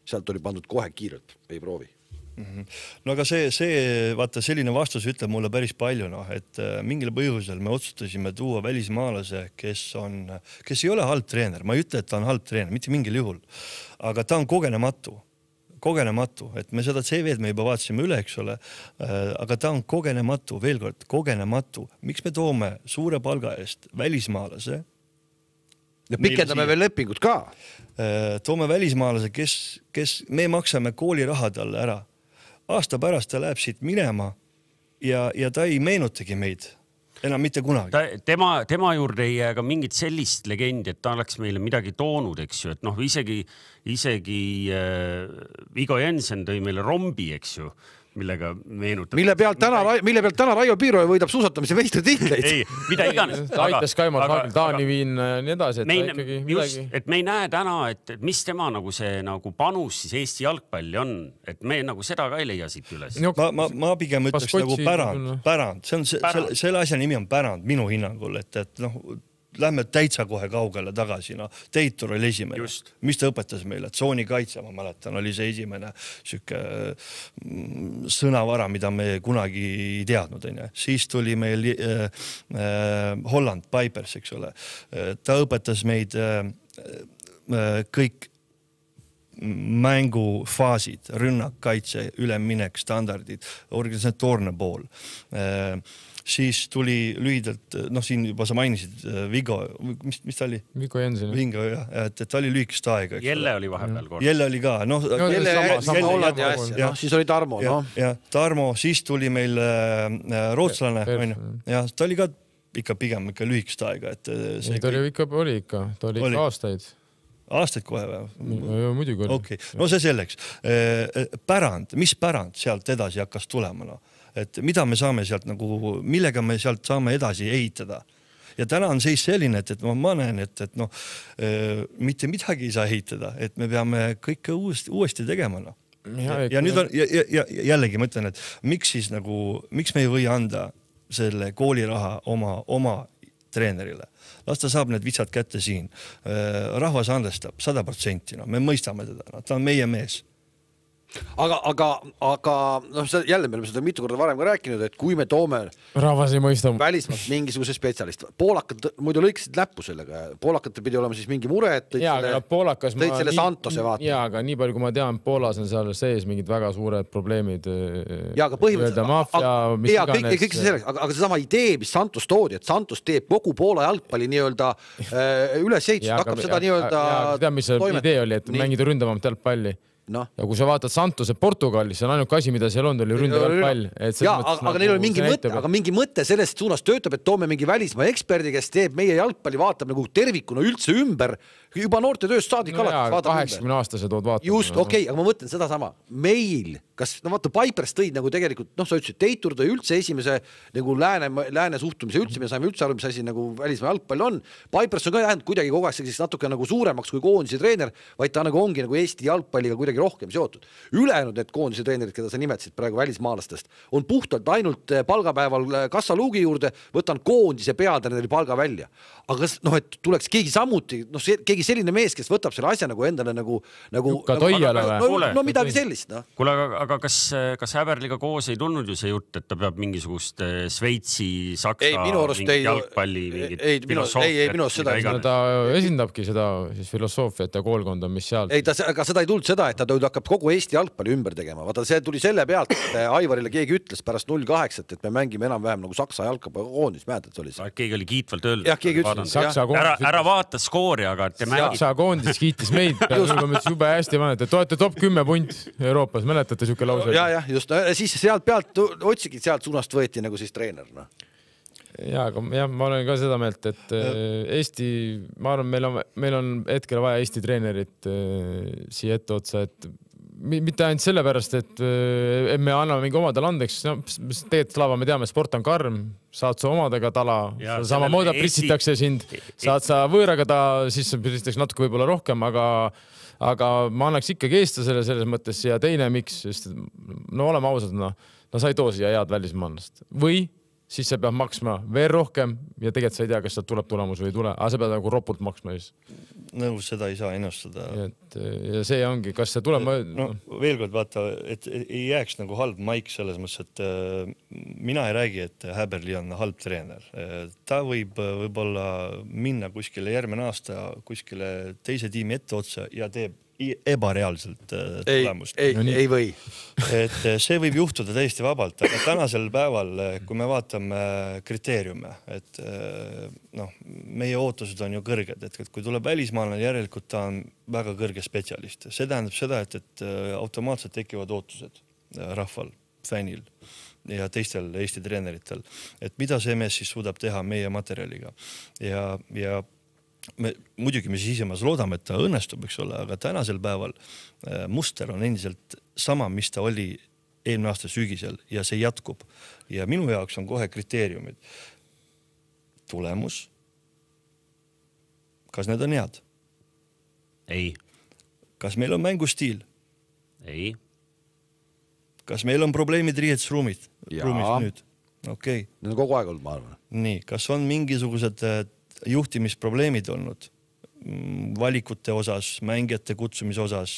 [SPEAKER 1] Sealt oli pandud kohe kiirelt, ei proovi.
[SPEAKER 4] Mm-hmm. No aga see, see, vaata, selline vastus ütleb mulle päris palju, noh, et mingil põhjusel me otsustasime tuua välismaalase, kes on, kes ei ole halb treener. Ma ei ütle, et ta on halb treener, mitte mingil juhul, aga ta on kogenematu, kogenematu, et me seda C V-d me juba vaatasime üle, eks ole, aga ta on kogenematu, veel kord, kogenematu. Miks me toome suure palga eest välismaalase?
[SPEAKER 1] Ja pikendame veel lepingut ka.
[SPEAKER 4] Toome välismaalase, kes, kes me maksame kooliraha talle ära. Aasta pärast ta läheb siit minema ja, ja ta ei meenutagi meid enam mitte kunagi.
[SPEAKER 2] Ta, tema, tema juurde ei jää ka mingit sellist legendi, et ta oleks meile midagi toonud, eks ju, et noh, isegi, isegi äh, Vigo Jensen tõi meile rombi, eks ju, millega meenutab.
[SPEAKER 1] Mille pealt täna, mille pealt täna Raio Piiroja võidab suusatamise meistrititleid.
[SPEAKER 2] Ei, mida iganes.
[SPEAKER 3] Ta aitas Kaimar Hagel, Taani viin nii edasi, et
[SPEAKER 2] mein,
[SPEAKER 3] ikkagi
[SPEAKER 2] just,
[SPEAKER 3] midagi.
[SPEAKER 2] Et me ei näe täna, et mis tema nagu see nagu panus siis Eesti jalgpalli on, et me nagu seda ka ei leia siit üles.
[SPEAKER 4] Ma, ma, ma pigem ütleks nagu pärand, pärand. See on, see, selle, selle asja nimi on pärand minu hinnangul, et, et noh, lähme täitsa kohe kaugele tagasi. No, Teitur oli esimene. Just. Mis ta õpetas meile? Tsooni kaitse, ma mäletan, oli see esimene süke sõnavara, mida me kunagi ei teadnud. On. Siis tuli meil äh, äh, Holland, Pipers, eks ole. Ta õpetas meid äh, äh, kõik mängufaasid, rünnak, kaitse, üleminek, standardid, organisatoorne pool. Äh, siis tuli lühidalt, noh siin juba sa mainisid Vigo, mis, mis ta oli?
[SPEAKER 3] Vigo Jensen.
[SPEAKER 4] Vingo, jah, et, et ta oli lühikest aega.
[SPEAKER 2] Jelle oli vahepeal kord.
[SPEAKER 4] Jelle oli ka, noh.
[SPEAKER 1] No, Jelle, sama, sama Holland ja asja, no, siis oli Tarmo.
[SPEAKER 4] Ja,
[SPEAKER 1] no.
[SPEAKER 4] ja Tarmo, siis tuli meil äh, rootslane, on ju. Ja ta oli ka ikka pigem ikka lühikest aega. Et
[SPEAKER 3] see ta oli ikka, oli ikka, ta oli ikka aastaid.
[SPEAKER 4] Aastaid kohe või?
[SPEAKER 3] Muidugi oli.
[SPEAKER 4] Okay. No see selleks. Pärand, mis pärand sealt edasi hakkas tulema? No? Et mida me saame sealt nagu, millega me sealt saame edasi ehitada. Ja täna on seis selline, et, et ma, ma näen, et, et noh, mitte midagi ei saa ehitada, et me peame kõike uuesti, uuesti tegema. No. Ja, ja, ja nüüd on, ja, ja, jällegi ma ütlen, et miks siis nagu, miks me ei või anda selle kooliraha oma, oma treenerile. Las ta saab need vitsad kätte siin. Rahvas andestab sada protsenti, no. Me mõistame teda, no. Ta on meie mees.
[SPEAKER 1] aga, aga, aga noh, jälle me oleme seda mitu korda varem ka rääkinud, et kui me toome
[SPEAKER 3] rahvas ei mõista
[SPEAKER 1] välismaalt mingisuguse spetsialist, poolakad muidu lõiksid läppu sellega, poolakad pidi olema siis mingi mure, et tõid
[SPEAKER 3] ja,
[SPEAKER 1] selle,
[SPEAKER 3] poolakas
[SPEAKER 1] tõid selle Santose vaata.
[SPEAKER 3] Jaa, aga nii palju, kui ma tean, Poolas on seal sees mingid väga suured probleemid.
[SPEAKER 1] Jaa, aga põhimõtteliselt,
[SPEAKER 3] mafia, mis
[SPEAKER 1] jaa, kõik, kõik see selleks, aga, aga see sama idee, mis Santos toodi, et Santos teeb kogu Poola jalgpalli nii-öelda äh, ülesehitust, hakkab seda nii-öelda
[SPEAKER 3] tead, mis see idee oli, et nii. mängida ründavamat jalgpalli. No. Ja kui sa vaatad Santose Portugalis, see on ainult asi, mida seal on, oli ründav pall.
[SPEAKER 1] Jaa, aga, aga neil oli mingi mõte, aga mingi mõte sellest suunas töötab, et toome mingi välismaa eksperdi, kes teeb meie jalgpalli, vaatab nagu tervikuna üldse ümber, juba noorte tööst saadik
[SPEAKER 3] no
[SPEAKER 1] alates vaatab
[SPEAKER 3] kaheksakümne aastase tood vaatama.
[SPEAKER 1] Just, okei, okay, aga ma mõtlen seda sama. Meil, kas, no vaata, Pipers tõid nagu tegelikult, noh, sa ütlesid, Teitur tõi üldse esimese nagu lääne, lääne suhtumise üldse, me saime üldse aru, mis asi nagu välismaa jalgpall on. Pipers on ka jäänud kuidagi kogu aeg siis natuke nagu suuremaks kui koondise treener, vaid ta nagu ongi nagu Eesti jalgpalliga kuidagi rohkem seotud. Ülejäänud need koondise treenerid, keda sa nimetasid praegu välismaalastest, on puhtalt ainult palgapäeval kassaluugi juurde, võtan koondise peatreeneri palga välja. Aga kas, noh, et tuleks keegi samuti, noh, keegi selline mees, kes võtab selle asja nagu endale nagu, nagu,
[SPEAKER 3] nagu
[SPEAKER 1] no, no, no midagi sellist. No.
[SPEAKER 2] Kuule, aga, aga kas, kas Häberliga koos ei tulnud ju see jutt, et ta peab mingisugust Sveitsi, Saksa
[SPEAKER 1] ei, minu arust ei,
[SPEAKER 2] jalgpalli, mingit
[SPEAKER 1] ei, filosoofiat? Ei, ei, minu arust seda
[SPEAKER 3] ei. Ta esindabki seda siis filosoofiat ja koolkonda, mis seal.
[SPEAKER 1] Ei, ta, aga seda ei tulnud seda, et ta hakkab kogu Eesti jalgpalli ümber tegema. Vaata, see tuli selle pealt, et Aivarile keegi ütles pärast null kaheksa, et me mängime enam-vähem nagu Saksa jalgpallikoondis, mäletad, et oli see.
[SPEAKER 2] Keegi oli kiitvalt öeldud.
[SPEAKER 1] Jah, keegi ütles.
[SPEAKER 2] Ära, ära vaata skoori, aga te mängid.
[SPEAKER 3] Saksa koondis kiitis meid, jube hästi vannet, et olete top kümme punt Euroopas, mäletate siuke lause?
[SPEAKER 1] Ja, ja, just, siis sealt pealt otsigid, sealt suunast võeti nagu siis treener. No.
[SPEAKER 3] Ja, aga jah, ma olen ka seda meelt, et Eesti, ma arvan, meil on, meil on hetkel vaja Eesti treenerit siia ette otsa, et mitte ainult sellepärast, et me anname mingi omadele andeks, no, tegelikult Slava, me teame, sport on karm, saad sa omadega tala, sama mooda pritsitakse sind, saad sa võõraga ta, siis pritsitakse natuke võib-olla rohkem, aga, aga ma annaks ikkagi eestlasele selles mõttes ja teine miks, sest no oleme ausad, no, no sa ei too siia head välismaalast. Või siis sa peab maksma veel rohkem ja tegelikult sa ei tea, kas sealt tuleb tulemus või ei tule, aga sa pead nagu ropult maksma siis.
[SPEAKER 4] Nõus, seda ei saa ennustada.
[SPEAKER 3] Et, ja see ongi, kas see tuleb...
[SPEAKER 4] No, veel kord vaata, et ei jääks nagu halb maik selles mõttes, et äh, mina ei räägi, et Häberli on halb treener. Ta võib võib-olla minna kuskile järgmine aasta kuskile teise tiimi ette otsa ja teeb ebareaalselt tulemust.
[SPEAKER 1] Ei, ei, ei või.
[SPEAKER 4] Et see võib juhtuda täiesti vabalt, aga tänasel päeval, kui me vaatame kriteeriume, et noh, meie ootused on ju kõrged, et kui tuleb välismaalane, järelikult ta on väga kõrge spetsialist. See tähendab seda, et, et automaatselt tekivad ootused rahval, fännil ja teistel Eesti treeneritel, et mida see mees siis suudab teha meie materjaliga ja, ja Me, muidugi me siisemas loodame, et ta õnnestub, eks ole, aga tänasel päeval muster on endiselt sama, mis ta oli eelmine aasta sügisel ja see jätkub. Ja minu jaoks on kohe kriteeriumid. Tulemus. Kas need on head?
[SPEAKER 2] Ei.
[SPEAKER 4] Kas meil on mängustiil?
[SPEAKER 2] Ei.
[SPEAKER 4] Kas meil on probleemid riietusruumid? Ruumis nüüd? Okei.
[SPEAKER 1] Need on kogu aeg olnud, ma arvan.
[SPEAKER 4] Nii, kas on mingisugused juhtimisprobleemid olnud valikute osas, mängijate kutsumise osas?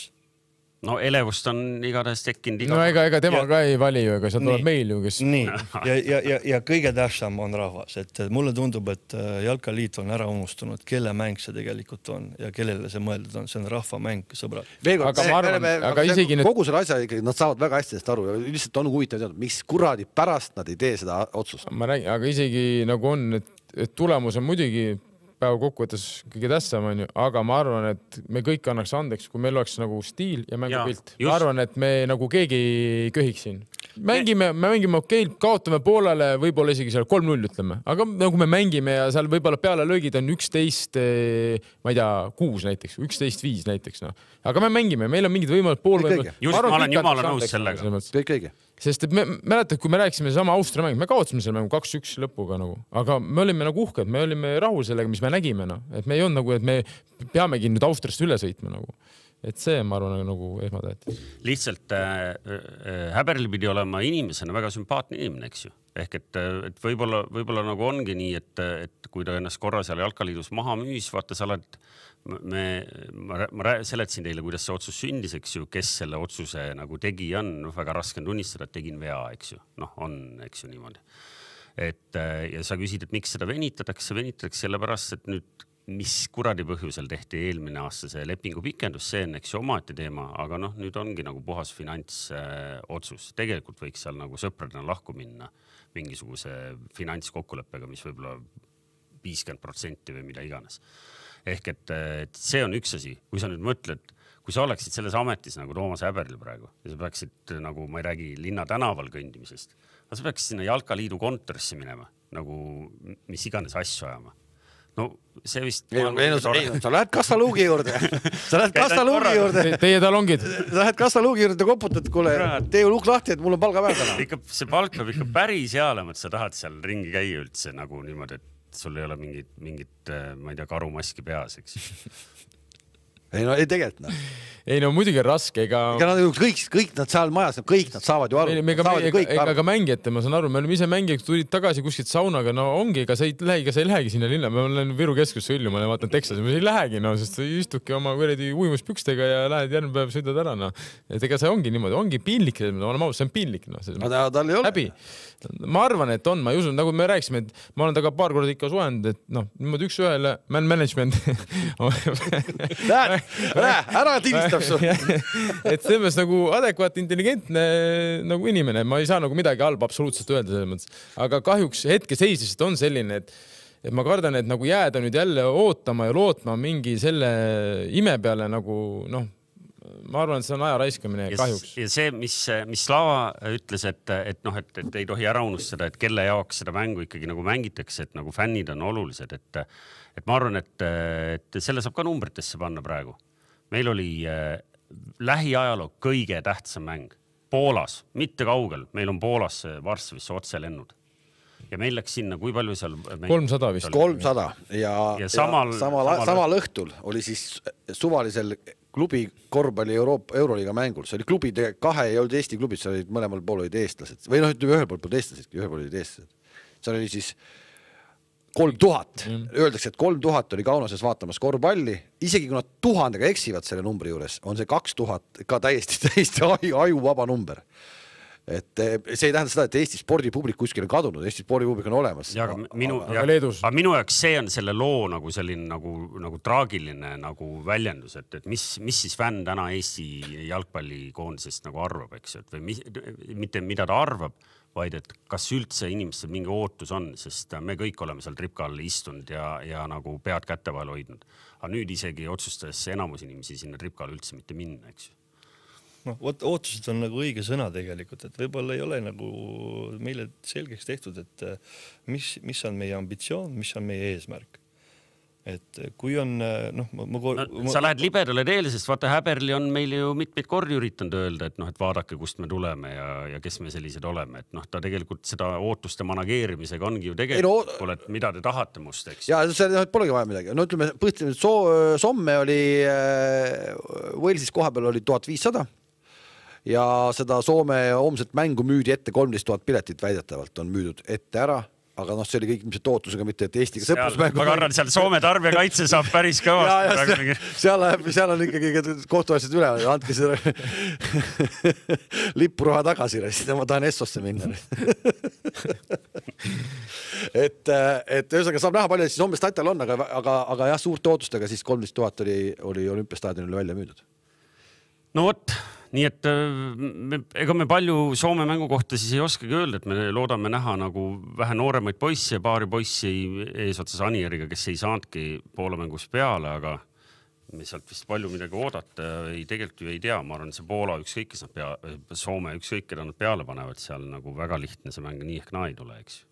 [SPEAKER 2] No elevust on igatahes tekkinud iga...
[SPEAKER 3] No ega, ega tema ja... ka ei vali ju, ega see tuleb meil ju, kes...
[SPEAKER 4] Nii, ja, ja, ja, ja kõige tähtsam on rahvas, et mulle tundub, et Jalkaliit on ära unustunud, kelle mäng see tegelikult on ja kellele see mõeldud on, see on rahvamäng, sõbrad.
[SPEAKER 1] Veega, aga ma arvan, aga, aga isegi need... kogu selle asja ikkagi, nad saavad väga hästi sellest aru ja lihtsalt on huvitav teada, miks kuradi pärast nad ei tee seda otsust.
[SPEAKER 3] Ma räägin, aga isegi nagu on, et, et tulemus on muidugi päeva kokkuvõttes kõige tähtsam on ju, aga ma arvan, et me kõik annaks andeks, kui meil oleks nagu stiil ja mängupilt. Ma arvan, et me nagu keegi ei köhiks siin. Mängime, me mängime okei, kaotame poolele, võib-olla isegi seal kolm null ütleme, aga nagu me mängime ja seal võib-olla peale löögid on üksteist, ma ei tea, kuus näiteks, üksteist viis näiteks. No. Aga me mängime, meil on mingid võimalud pool võimalud.
[SPEAKER 2] Just, ma olen jumala nõus sellega.
[SPEAKER 1] Kõik õige.
[SPEAKER 3] Sest et me mäletad, kui me rääkisime sama Austria mäng, me kaotasime selle mängu kaks üks lõpuga nagu, aga me olime nagu uhked, me olime rahul sellega, mis me nägime, no. Et me ei olnud nagu, et me peamegi nüüd Austriast üle sõitma nagu. et see, ma arvan, nagu esmatähtis.
[SPEAKER 2] Lihtsalt äh, äh, Häberli pidi olema inimesena väga sümpaatne inimene, eks ju. Ehk et, et võib-olla, võib-olla nagu ongi nii, et, et kui ta ennast korra seal Jalkaliidus maha müüs, vaata sa oled, me, ma, ma seletasin teile, kuidas see otsus sündis, eks ju, kes selle otsuse nagu tegi on, väga raske on tunnistada, et tegin vea, eks ju. Noh, on, eks ju niimoodi. Et, ja sa küsid, et miks seda venitatakse, venitatakse sellepärast, et nüüd mis kuradi põhjusel tehti eelmine aasta see lepingu pikendus, see on eks ju omaette teema, aga noh, nüüd ongi nagu puhas finantsotsus. Äh, Tegelikult võiks seal nagu sõpradena lahku minna mingisuguse finantskokkuleppega, mis võib-olla viiskümmend protsenti või mida iganes. Ehk et, et see on üks asi, kui sa nüüd mõtled, kui sa oleksid selles ametis nagu Toomas Häberl praegu ja sa peaksid nagu, ma ei räägi linna tänaval kõndimisest, aga sa peaksid sinna Jalkaliidu kontorisse minema, nagu mis iganes asju ajama. No see vist...
[SPEAKER 1] Ei, ei, no, ei, sa lähed kassaluugi juurde. Sa lähed kassaluugi juurde.
[SPEAKER 3] Teie talongid.
[SPEAKER 1] Sa lähed kassaluugi juurde ja koputad, kuule, tee ju luuk lahti, et mul on palga päev täna.
[SPEAKER 2] Ikka, see palk peab ikka päris hea olema, et sa tahad seal ringi käia üldse nagu niimoodi, et sul ei ole mingit, mingit, ma ei tea, karumaski peas, eks.
[SPEAKER 1] Ei no ei tegelikult no.
[SPEAKER 3] Ei no muidugi on raske, ega...
[SPEAKER 1] Ega nad kõik, kõik nad seal majas, kõik nad saavad ju aru.
[SPEAKER 3] Ei, ega, saavad ega, ega, ega mängijate, ma saan aru, me oleme ise mängijad, tulid tagasi kuskilt saunaga, no ongi, ega sa ei lähe, ega sa ei lähegi sinna linna, ma olen Viru keskusse üllu, ma olen vaatan Texas, ma ei lähegi, no, sest sa istuki oma kuredi uimuspükstega ja lähed järgmine päev sõidad ära, no. Et ega see ongi niimoodi, ongi piinlik, ma olen maus, see on piinlik, no.
[SPEAKER 1] Ta, tal ei ole.
[SPEAKER 3] Häbi. Ma arvan, et on, ma ei usun, nagu me rääksime, et ma olen taga paar korda ikka suhend, et noh, niimoodi üks ühele man management.
[SPEAKER 1] Lähe, lähe, ära tilistab su.
[SPEAKER 3] Et selles nagu adekvaat, intelligentne nagu inimene, ma ei saa nagu midagi halba absoluutselt öelda selles mõttes. Aga kahjuks hetke seisist on selline, et, et ma kardan, et nagu jääda nüüd jälle ootama ja lootma mingi selle ime peale nagu noh, ma arvan, et see on aja raiskamine kahjuks.
[SPEAKER 2] Ja see, mis, mis Slava ütles, et, et, noh, et, et ei tohi ära unustada, et kelle jaoks seda mängu ikkagi nagu mängitakse, et nagu fännid on olulised, et, et ma arvan, et, et selle saab ka numbritesse panna praegu. Meil oli äh, lähiajaloo kõige tähtsam mäng Poolas, mitte kaugel. Meil on Poolas Varssavisse otse lennud. Ja meil läks sinna, kui palju seal...
[SPEAKER 3] kolmsada vist.
[SPEAKER 1] kolmsada ja,
[SPEAKER 2] ja samal,
[SPEAKER 1] ja samal, samal, samal õhtul oli siis suvalisel klubi korvpalli Euroopa Euroliiga mängul. See oli klubi, kahe ei olnud Eesti klubid, see olid mõlemal pool olid eestlased. Või noh, ütleme ühel pool pool eestlased, ühel pool olid eestlased. See oli siis kolm tuhat. Mm. Öeldakse, et kolm tuhat oli Kaunoses vaatamas korvpalli. Isegi kui nad tuhandega eksivad selle numbri juures, on see kaks tuhat ka täiesti, täiesti aju vaba number. Et see ei tähenda seda, et Eesti spordipublik kuskil on kadunud, Eesti spordipublik on olemas.
[SPEAKER 2] Ja, aga minu,
[SPEAKER 3] aga,
[SPEAKER 2] ja, aga minu jaoks see on selle loo nagu selline nagu, nagu traagiline nagu väljendus, et, et mis, mis siis fänn täna Eesti jalgpallikoondisest nagu arvab, eks, et või mis, mitte mida ta arvab, vaid et kas üldse inimestel mingi ootus on, sest me kõik oleme seal tripka all istunud ja, ja nagu pead kätte vahel hoidnud. Aga nüüd isegi otsustas enamus inimesi sinna tripka all üldse mitte minna, eks.
[SPEAKER 4] No, ootused on nagu õige sõna tegelikult, et võib-olla ei ole nagu meile selgeks tehtud, et mis, mis on meie ambitsioon, mis on meie eesmärk. Et kui on, noh, ma, ma,
[SPEAKER 2] no, ma... Sa lähed libedale teele, sest vaata Häberli on meil ju mitmeid kordi üritanud öelda, et noh, et vaadake, kust me tuleme ja, ja kes me sellised oleme. Et noh, ta tegelikult seda ootuste manageerimisega ongi ju tegelikult, ei, no, et mida te tahate must, eks?
[SPEAKER 1] Ja see polegi vaja midagi. No ütleme, põhimõtteliselt so, Somme oli, Walesis koha peal oli tuhat viissada. Ja seda Soome homset mängu müüdi ette kolmteist tuhat piletit väidetavalt on müüdud ette ära, aga noh, see oli kõik ilmselt ootusega, mitte et Eestiga sõprusmängu.
[SPEAKER 2] Ma kardan, seal Soome tarbijakaitse saab päris kõvasti.
[SPEAKER 1] Seal, seal on ikkagi kohtuasjad üle, andke seda lipuraha tagasi, ma tahan Essosse minna. et, et ühesõnaga saab näha palju, siis Soome statal on, aga, aga, aga jah, suurte ootustega siis kolmteist tuhat oli, oli olümpiastaadionile välja müüdud.
[SPEAKER 2] No vot, nii et me, ega me palju Soome mängu kohta siis ei oskagi öelda, et me loodame näha nagu vähe nooremaid poissi ja paari poissi eesotsas Anieriga, kes ei saanudki Poola mängus peale, aga me sealt vist palju midagi oodata ei, tegelikult ju ei tea. Ma arvan, see Poola ükskõik, kes nad pea, Soome ükskõik, keda nad peale panevad, seal nagu väga lihtne see mäng nii ehk naa ei tule, eks.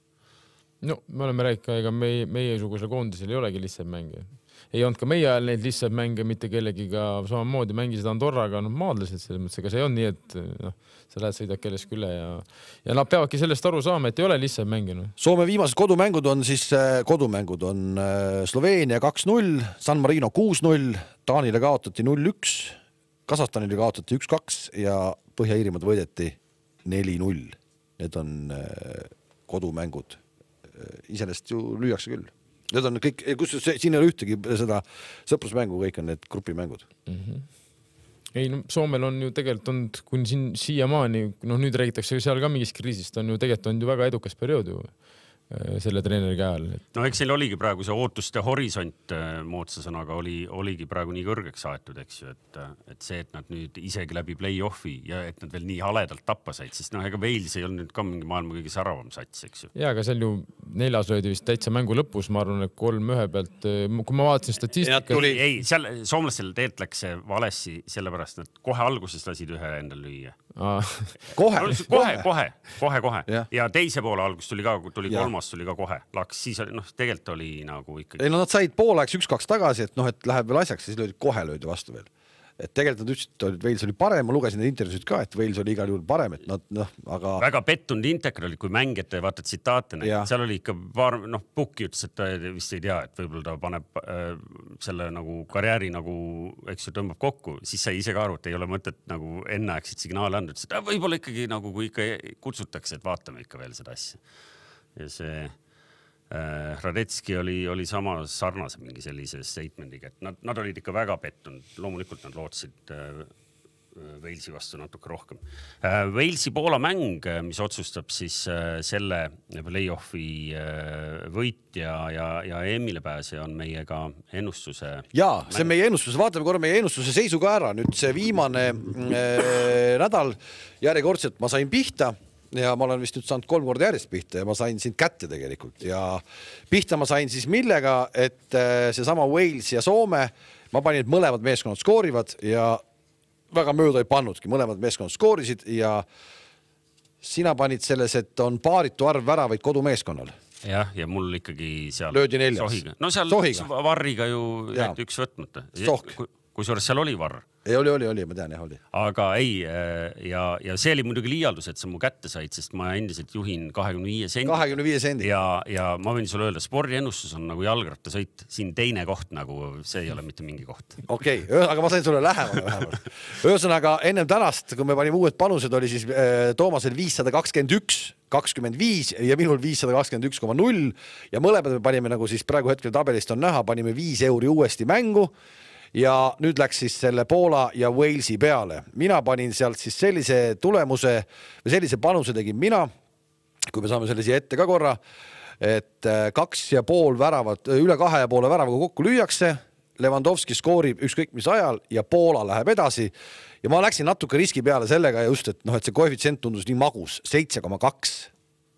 [SPEAKER 3] No, me oleme rääkinud, ega meie, meie suguse koondisel ei olegi lihtsalt mänge. Ei olnud ka meie ajal neid lihtsalt mänge, mitte kellegiga samamoodi mängisid Andorraga, no maadlased selles mõttes, ega see on nii, et no, sa lähed sõidad kellest üle ja, ja nad peavadki sellest aru saama, et ei ole lihtsalt mänginud.
[SPEAKER 1] Soome viimased kodumängud on siis, kodumängud on Sloveenia kaks null, San Marino kuus null, Taanile kaotati null üks Kasahstanile kaotati üks kaks ja Põhja-Iirimaad võideti neli null. Need on kodumängud. Iseenesest ju lüüakse küll. Need on kõik, kus siin ei ole ühtegi seda sõprusmängu, kõik on need grupimängud.
[SPEAKER 3] Mm-hmm. Ei, no Soomel on ju tegelikult olnud, kuni siin siiamaani, no nüüd räägitakse seal ka mingist kriisist, on ju tegelikult on ju väga edukas periood ju selle treeneri ajal.
[SPEAKER 2] No eks seal oligi praegu see ootuste horisont moodsa sõnaga oli, oligi praegu nii kõrgeks aetud, eks ju, et, et see, et nad nüüd isegi läbi play-offi ja et nad veel nii haledalt tappa said, sest noh, ega Wales ei olnud nüüd ka mingi maailma kõige säravam sats, eks ju.
[SPEAKER 3] Ja, aga seal ju neljas löödi vist täitsa mängu lõpus, ma arvan, et kolm ühe pealt, kui ma vaatasin statistika.
[SPEAKER 2] Tuli... Ei, seal soomlastel teelt läks see valessi, sellepärast nad kohe alguses lasid ühe endal lüüa.
[SPEAKER 1] Kohe,
[SPEAKER 2] kohe, kohe, kohe, kohe. Ja teise poole algus tuli ka, tuli kolmas tuli ka kohe. Laks, siis noh, tegelikult oli nagu ikkagi...
[SPEAKER 1] Ei, no nad said pooleks üks kaks tagasi, et noh, et läheb veel asjaks, siis löödi kohe löödi vastu veel. Et tegelikult nad ütlesid, et Wales oli parem, ma lugesin need intervjuusid ka, et Wales oli igal juhul parem, et nad noh, aga...
[SPEAKER 2] Väga pettunud Inteker oli, kui mängijate vaata tsitaate, seal oli ikka paar, noh, Pukki ütles, et ta vist ei tea, et võib-olla ta paneb äh, selle nagu karjääri nagu, eks ju, tõmbab kokku, siis sai ise ka aru, et ei ole mõtet nagu enneaegsid signaale anda, ütles, et võib-olla ikkagi nagu, kui ikka kutsutakse, et vaatame ikka veel seda asja. Ja see... Radetski oli, oli sama sarnase mingi sellise statemendiga, et nad, nad olid ikka väga pettunud. Loomulikult nad lootsid Walesi vastu natuke rohkem. Walesi Poola mäng, mis otsustab siis selle play-offi võitja ja, ja Emile pääse on meiega ennustuse.
[SPEAKER 1] Jaa, see meie ennustuse, vaatame korra meie ennustuse seisu ka ära. Nüüd see viimane äh, nädal järjekordselt ma sain pihta. Ja ma olen vist nüüd saanud kolm korda järjest pihta ja ma sain sind kätte tegelikult ja pihta ma sain siis millega, et see sama Wales ja Soome, ma panin, et mõlemad meeskonnad skoorivad ja väga mööda ei pannudki, mõlemad meeskonnad skoorisid ja sina panid selles, et on paaritu arv väravaid kodumeeskonnal.
[SPEAKER 2] Jah, ja mul ikkagi seal
[SPEAKER 1] löödi neljas.
[SPEAKER 2] Sohiga. No seal Sohiga. Varriga ju jäeti üks võtmata. Kui suures seal oli varr?
[SPEAKER 1] Ei, oli, oli, oli, ma tean, jah, oli.
[SPEAKER 2] Aga ei, ja, ja see oli muidugi liialdus, et sa mu kätte said, sest ma endiselt juhin kahekümne viie sendi.
[SPEAKER 1] kahekümne viie sendi.
[SPEAKER 2] Ja, ja ma võin sulle öelda, spordiennustus on nagu jalgrattasõit. Siin teine koht nagu, see ei ole mitte mingi koht.
[SPEAKER 1] Okei, okay, aga ma sain sulle lähemale vähemalt. Ühesõnaga, ennem tänast, kui me panime uued panused, oli siis äh, Toomasel viissada kakskümmend üks kakskümmend viis ja minul viissada kakskümmend üks koma null ja mõlemad me panime, nagu siis praegu hetkel tabelist on näha, panime viis euri uuesti mängu. Ja nüüd läks siis selle Poola ja Walesi peale. Mina panin sealt siis sellise tulemuse või sellise panuse tegin mina, kui me saame selle siia ette ka korra, et kaks ja pool väravat, üle kahe ja poole väravaga kokku lüüakse, Lewandowski skoorib ükskõik mis ajal ja Poola läheb edasi. Ja ma läksin natuke riski peale sellega ja just, et, noh, et see koefitsient tundus nii magus, seitse koma kaks.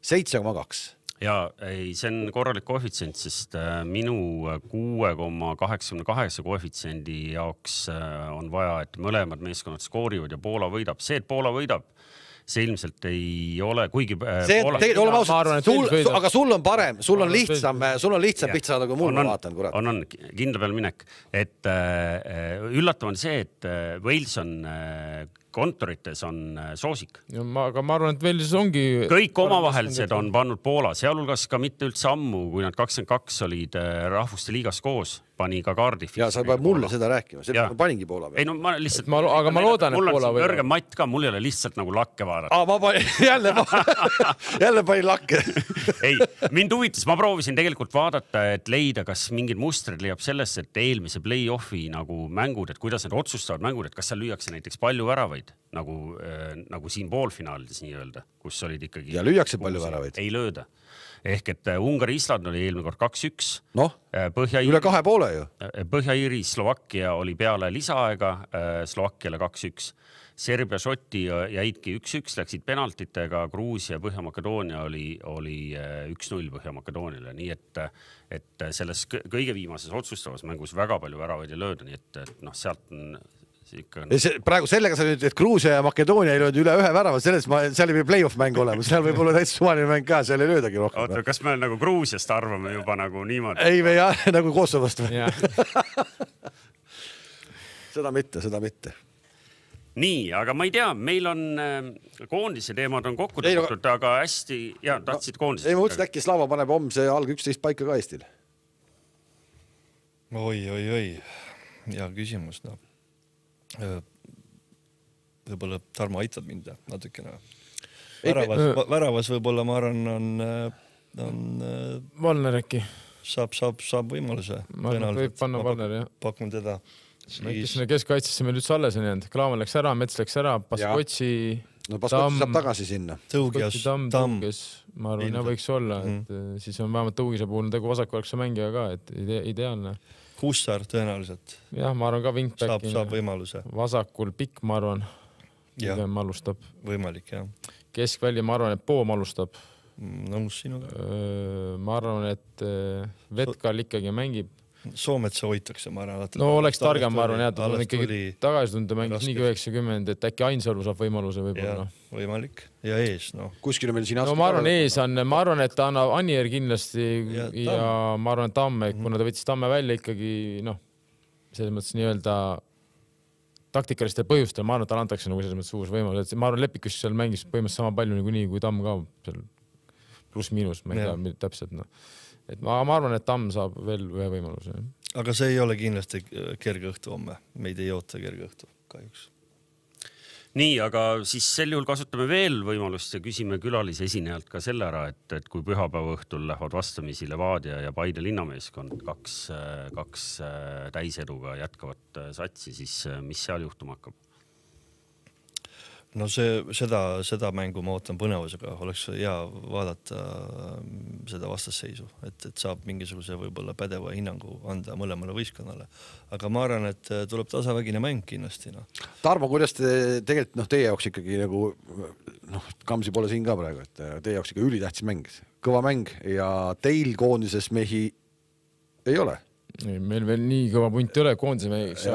[SPEAKER 1] seitse koma kaks.
[SPEAKER 2] Ja ei, see on korralik koefitsient, sest minu kuue koma kaheksakümne kaheksa koefitsiendi jaoks on vaja, et mõlemad meeskonnad skoorivad ja Poola võidab. See, et Poola võidab, see ilmselt ei ole, kuigi...
[SPEAKER 1] See, Poola... Teid, oleme ausalt, sul, sul, aga sul on parem, sul on lihtsam, sul on lihtsam pihta saada, kui mul ma vaatan, kurat.
[SPEAKER 2] On, on, kindla peal minek. Et äh, üllatav on see, et Wales on... Äh, kontorites on soosik.
[SPEAKER 3] Ja ma, aga ma arvan, et veel siis ongi...
[SPEAKER 2] Kõik omavahelised on pannud Poola, sealhulgas ka mitte üldse ammu, kui nad kakskümmend kaks olid rahvuste liigas koos, pani ka kaardi.
[SPEAKER 1] Ja sa peab mulle seda rääkima, see ma paningi Poola peal.
[SPEAKER 2] Ei, no ma lihtsalt...
[SPEAKER 3] Ma, aga ma loodan, et Poola
[SPEAKER 2] võidab. Mul on kõrgem matt ka, mul ei ole lihtsalt nagu lakke vaadata.
[SPEAKER 1] Aa, ma panin, jälle, jälle panin lakke.
[SPEAKER 2] Ei, mind huvitas, ma proovisin tegelikult vaadata, et leida, kas mingid mustrid leiab sellest, et eelmise play-offi nagu mängud, et kuidas need otsustavad mängud, et kas seal lüüakse näiteks palju väravaid, nagu, äh, nagu siin poolfinaalides nii öelda, kus olid ikkagi...
[SPEAKER 1] Ja lüüakse palju väravaid?
[SPEAKER 2] Ei lööda. Ehk et Ungari-Island oli eelmine kord kaks üks.
[SPEAKER 1] Noh, üle kahe poole ju.
[SPEAKER 2] Põhja-Iiri Slovakkia oli peale lisaaega, Slovakkiale kaks üks. Serbia-Šoti jäidki üks üks, läksid penaltitega, Gruusia ja Põhja-Makedoonia oli, oli üks null Põhja-Makedooniale. Nii et, et selles kõige viimases otsustavas mängus väga palju väravaid ei lööda, nii et, et noh, sealt on... On...
[SPEAKER 1] praegu sellega sa nüüd, et Gruusia ja Makedoonia ei löönud üle ühe värava, selles ma, seal ei või play-off mäng olema, seal võib olla täitsa suvaline mäng ka, seal ei löödagi rohkem.
[SPEAKER 2] Oota, kas me nagu Gruusiast arvame juba nagu niimoodi?
[SPEAKER 1] Ei, me jah, nagu Kosovost või? seda mitte, seda mitte.
[SPEAKER 2] Nii, aga ma ei tea, meil on koondise teemad on kokku tõmmatud, no, aga hästi, ja tahtsid koondisest.
[SPEAKER 1] Ei, ma mõtlesin, äkki Slava paneb homse alg üksteist paika ka Eestil.
[SPEAKER 4] Oi, oi, oi. Hea küsimus, no. võib-olla Tarmo aitab mind natukene. Väravas, väravas võib-olla ma arvan, on, on
[SPEAKER 3] Valner äkki.
[SPEAKER 4] Saab, saab, saab võimaluse.
[SPEAKER 3] Ma arvan, võib panna Valner, jah.
[SPEAKER 4] Pakun teda.
[SPEAKER 3] Siis... Keskkaitsesse meil üldse alles on jäänud. Klaaman läks ära, Mets läks ära, Paskotsi,
[SPEAKER 1] no Paskotsi saab tagasi sinna.
[SPEAKER 4] Tõugias,
[SPEAKER 3] Tamm, Tõugias, ma arvan, ja võiks olla, et mm. siis on vähemalt Tõugise puhul tegu vasakuvalkse mängija ka, et ide ideaalne.
[SPEAKER 4] Hussar tõenäoliselt.
[SPEAKER 3] Jah, ma arvan ka wingback.
[SPEAKER 4] Saab, saab võimaluse.
[SPEAKER 3] Vasakul pikk, ma arvan, pigem alustab.
[SPEAKER 4] Võimalik, jah.
[SPEAKER 3] Keskvälja, ma arvan, et Poom alustab.
[SPEAKER 4] Nõus sinuga.
[SPEAKER 3] Ma arvan, et Vetkal ikkagi mängib.
[SPEAKER 4] Soometsa hoitakse, ma arvan.
[SPEAKER 3] No oleks targem, ma arvan, jah, on ikkagi tagasi tunde mängis nii üheksakümmend, et äkki Ainsalu saab võimaluse võib-olla.
[SPEAKER 4] Võimalik. Ja ees, no.
[SPEAKER 1] Kuskil meil siin
[SPEAKER 3] no ma arvan, ees on, ma arvan, et ta annab Anier kindlasti ja, ja ma arvan, et Tamme, kuna mm -hmm. ta võttis Tamme välja ikkagi, noh, selles mõttes nii-öelda taktikalistel põhjustel, ma arvan, et tal antakse nagu selles mõttes uus võimalus. Ma arvan, Lepikus seal mängis põhimõtteliselt sama palju nagu nii kui Tamm ka seal pluss-miinus, ma ei tea täpselt, noh. Et ma, ma arvan, et Tamm saab veel ühe võimaluse.
[SPEAKER 4] Aga see ei ole kindlasti kerge õhtu homme. Meid ei oota kerge õhtu, kahjuks.
[SPEAKER 2] Nii, aga siis sel juhul kasutame veel võimalust ja küsime külalise esinejalt ka selle ära, et, et kui pühapäeva õhtul lähevad vastamisi Levadia ja Paide linnameeskond kaks, kaks täiseduga jätkavat satsi, siis mis seal juhtuma hakkab?
[SPEAKER 4] No see, seda, seda mängu ma ootan põnevusega, oleks hea vaadata seda vastasseisu, et, et saab mingisuguse võib-olla pädeva hinnangu anda mõlemale võistkonnale. Aga ma arvan, et tuleb tasavägine mäng kindlasti. No.
[SPEAKER 1] Tarmo, kuidas te tegelikult, noh, teie jaoks ikkagi nagu, noh, Kamsi pole siin ka praegu, et teie jaoks ikka ülitähtsis mäng, kõva mäng ja teil koondises mehi ei ole?
[SPEAKER 3] Ei, meil veel nii kõva punt ei ole koondise mehiks.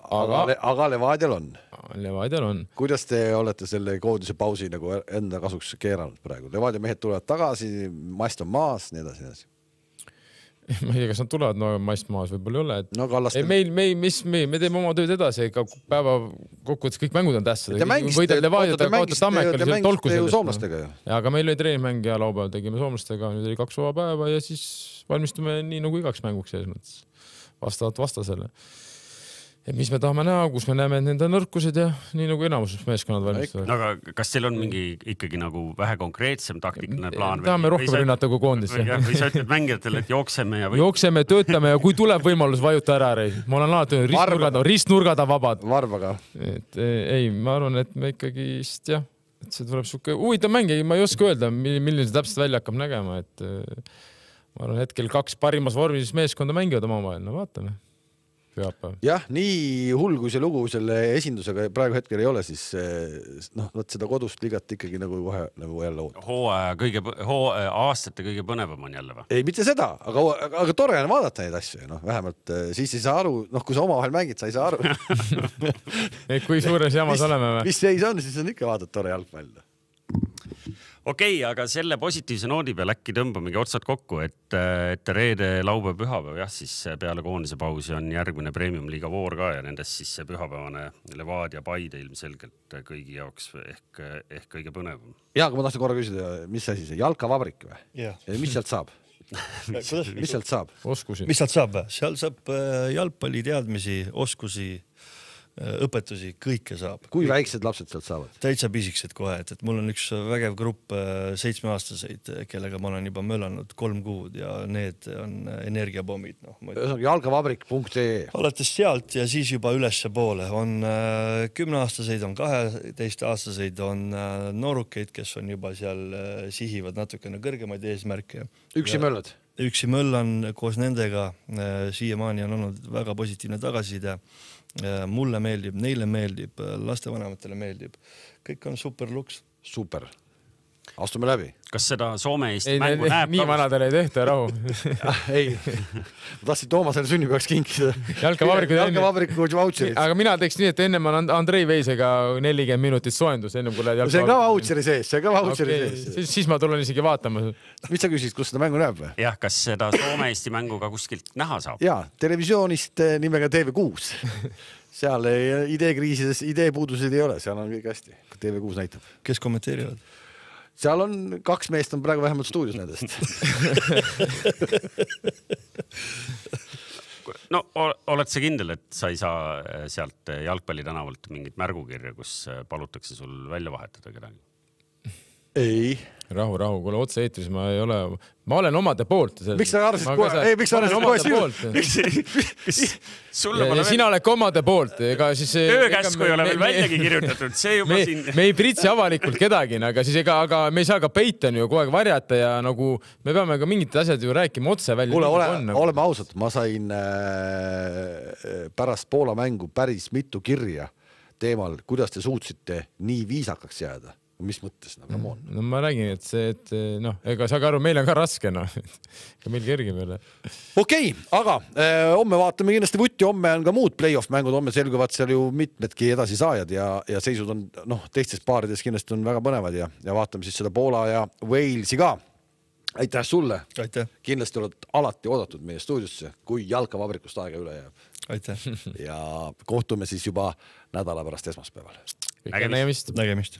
[SPEAKER 1] Aga, aga Levadial on.
[SPEAKER 3] Levadial on.
[SPEAKER 1] Kuidas te olete selle koondise pausi nagu enda kasuks keeranud praegu? Levadia mehed tulevad tagasi, mast on maas, nii edasi, nii edasi.
[SPEAKER 3] Ma ei tea, kas nad tulevad, no mast maas võib-olla ei ole. Et...
[SPEAKER 1] No Kallastel...
[SPEAKER 3] Ei, meil, me, mis, me, me teeme oma tööd edasi, ega päeva kokkuvõttes kõik mängud on tähtsad.
[SPEAKER 1] Te mängiste, te mängiste ju soomlastega ju.
[SPEAKER 3] Ja, aga meil oli treeningmäng ja laupäeval tegime soomlastega, nüüd oli kaks vaba päeva ja siis valmistume nii nagu igaks mänguks selles mõttes. Vastavalt vastasele. Et mis me tahame näha, kus me näeme nende nõrkused ja nii nagu enamus meeskonnad valmistavad.
[SPEAKER 2] Aga kas teil on mingi ikkagi nagu vähe konkreetsem taktiline plaan?
[SPEAKER 3] Tahame rohkem rünnata kui koondis.
[SPEAKER 2] Või sa ütled mängijatele, et jookseme ja... Või...
[SPEAKER 3] Jookseme, töötame ja kui tuleb võimalus vajuta ära, Rei. Ma olen alati ristnurgad, ristnurgad on vabad.
[SPEAKER 1] Varvaga.
[SPEAKER 3] Et, ei, ma arvan, et me ikkagi, jah, et see tuleb suke huvitav mäng, ma ei oska öelda, milline see täpselt välja hakkab nägema, et ma arvan, hetkel kaks parimas vormis meeskonda mängivad oma vahel, no vaatame.
[SPEAKER 1] Jah, nii hull kui see lugu selle esindusega praegu hetkel ei ole, siis noh, võt seda kodust ligat ikkagi nagu kohe nagu jälle oot.
[SPEAKER 2] Hooaja kõige, hooaja aastate kõige põnevam on jälle või?
[SPEAKER 1] Ei, mitte seda, aga, aga tore on vaadata neid asju, noh, vähemalt siis ei saa aru, noh, kui sa oma vahel mängid, sa ei saa aru.
[SPEAKER 3] Kui suures jamas
[SPEAKER 1] mis,
[SPEAKER 3] oleme või?
[SPEAKER 1] Mis seis on, siis on ikka vaadata tore jalgpall.
[SPEAKER 2] Okei, aga selle positiivse noodi peal äkki tõmbamegi otsad kokku, et, et reede, laupäev, pühapäev, jah, siis peale koondise pausi on järgmine Premium-liiga voor ka ja nendest siis see pühapäevane Levadia Paide ilmselgelt kõigi jaoks ehk, ehk kõige põnevam.
[SPEAKER 1] Ja, aga ma tahtsin korra küsida, mis asi see, jalkavabrik või? Ja. Ja mis sealt saab? mis, mis sealt saab?
[SPEAKER 3] Oskusi.
[SPEAKER 4] Mis sealt saab? Seal saab jalgpalli teadmisi, oskusi, õpetusi, kõike saab.
[SPEAKER 1] Kui väiksed lapsed sealt saavad?
[SPEAKER 4] Täitsa pisikesed kohe, et, et mul on üks vägev grupp seitsmeaastaseid, kellega ma olen juba möllanud kolm kuud ja need on energiapommid. No,
[SPEAKER 1] jalgavabrik punkt ee
[SPEAKER 4] Alates sealt ja siis juba ülesse poole on kümneaastaseid, on kaheteistaastaseid, on noorukeid, kes on juba seal sihivad natukene kõrgemaid eesmärke.
[SPEAKER 1] Üksi möllad?
[SPEAKER 4] Üksi möllan koos nendega. Siiamaani on olnud väga positiivne tagasiside. Mulle meeldib, neile meeldib, lastevanematele meeldib. Kõik on super luks.
[SPEAKER 1] Super. Astume läbi.
[SPEAKER 2] Kas seda Soome-Eesti
[SPEAKER 3] ei,
[SPEAKER 2] mängu
[SPEAKER 3] ne,
[SPEAKER 2] näeb?
[SPEAKER 3] Nii vanadele ei tehta, rahu.
[SPEAKER 1] ei, ma tahtsin Toomasele sünnipäevaks kinkida.
[SPEAKER 3] Jalkavabriku
[SPEAKER 1] Jalkavabriku vautšerit.
[SPEAKER 3] Aga mina teeks nii, et enne ma olen Andrei Veisega nelikümmend minutit soendus, enne kui lähed
[SPEAKER 1] jalkavabriku. See on ka vautšeri sees, see on ka vautšeri okay. sees.
[SPEAKER 3] Siis, siis ma tulen isegi vaatama.
[SPEAKER 1] Mis sa küsid, kus seda mängu näeb või?
[SPEAKER 2] Jah, kas seda Soome-Eesti mängu ka kuskilt näha saab?
[SPEAKER 1] Jaa, televisioonist nimega T V kuus. Seal ideekriisides, ideepuudused ei ole, seal on kõik hästi. T V kuus näitab.
[SPEAKER 4] Kes kommenteerivad?
[SPEAKER 1] Seal on kaks meest on praegu vähemalt stuudios nendest.
[SPEAKER 2] no oled sa kindel, et sa ei saa sealt jalgpallitänavalt mingit märgukirja, kus palutakse sul välja vahetada kedagi?
[SPEAKER 1] Ei.
[SPEAKER 3] Rahu, rahu, kuule otse eetris ma ei ole, ma olen omade poolt.
[SPEAKER 1] Miks sa arvasid kohe? Ei, miks sa arvasid kohe?
[SPEAKER 3] Ja sina oled omade poolt.
[SPEAKER 2] Öökäsku ei ole veel väljagi kirjutatud. See juba
[SPEAKER 3] me,
[SPEAKER 2] siin...
[SPEAKER 3] me ei pritsi avalikult kedagi, aga, siis ega, aga me ei saa ka peita ju kogu aeg varjata ja nagu me peame ka mingid asjad ju rääkima otse välja.
[SPEAKER 1] Kuule, ole, on, oleme ausad, ma sain äh, pärast Poola mängu päris mitu kirja teemal, kuidas te suutsite nii viisakaks jääda. Mis mõttes, no, come on.
[SPEAKER 3] No ma räägin, et see, et noh, ega saage aru, meil on ka raske, noh. Ka meil kerge meile.
[SPEAKER 1] Okei, aga eh, homme vaatame kindlasti vutti, homme on ka muud play-off mängud, homme selguvad seal ju mitmedki edasi saajad ja, ja seisud on, noh, teistes paarides kindlasti on väga põnevad ja, ja vaatame siis seda Poola ja Walesi ka. Aitäh sulle.
[SPEAKER 4] Aitäh. Kindlasti
[SPEAKER 1] oled alati oodatud meie stuudiosse, kui jalkavabrikust aega üle jääb.
[SPEAKER 4] Aitäh.
[SPEAKER 1] Ja kohtume siis juba nädala pärast esmaspäeval.
[SPEAKER 3] Nägemist.
[SPEAKER 4] Nägemist.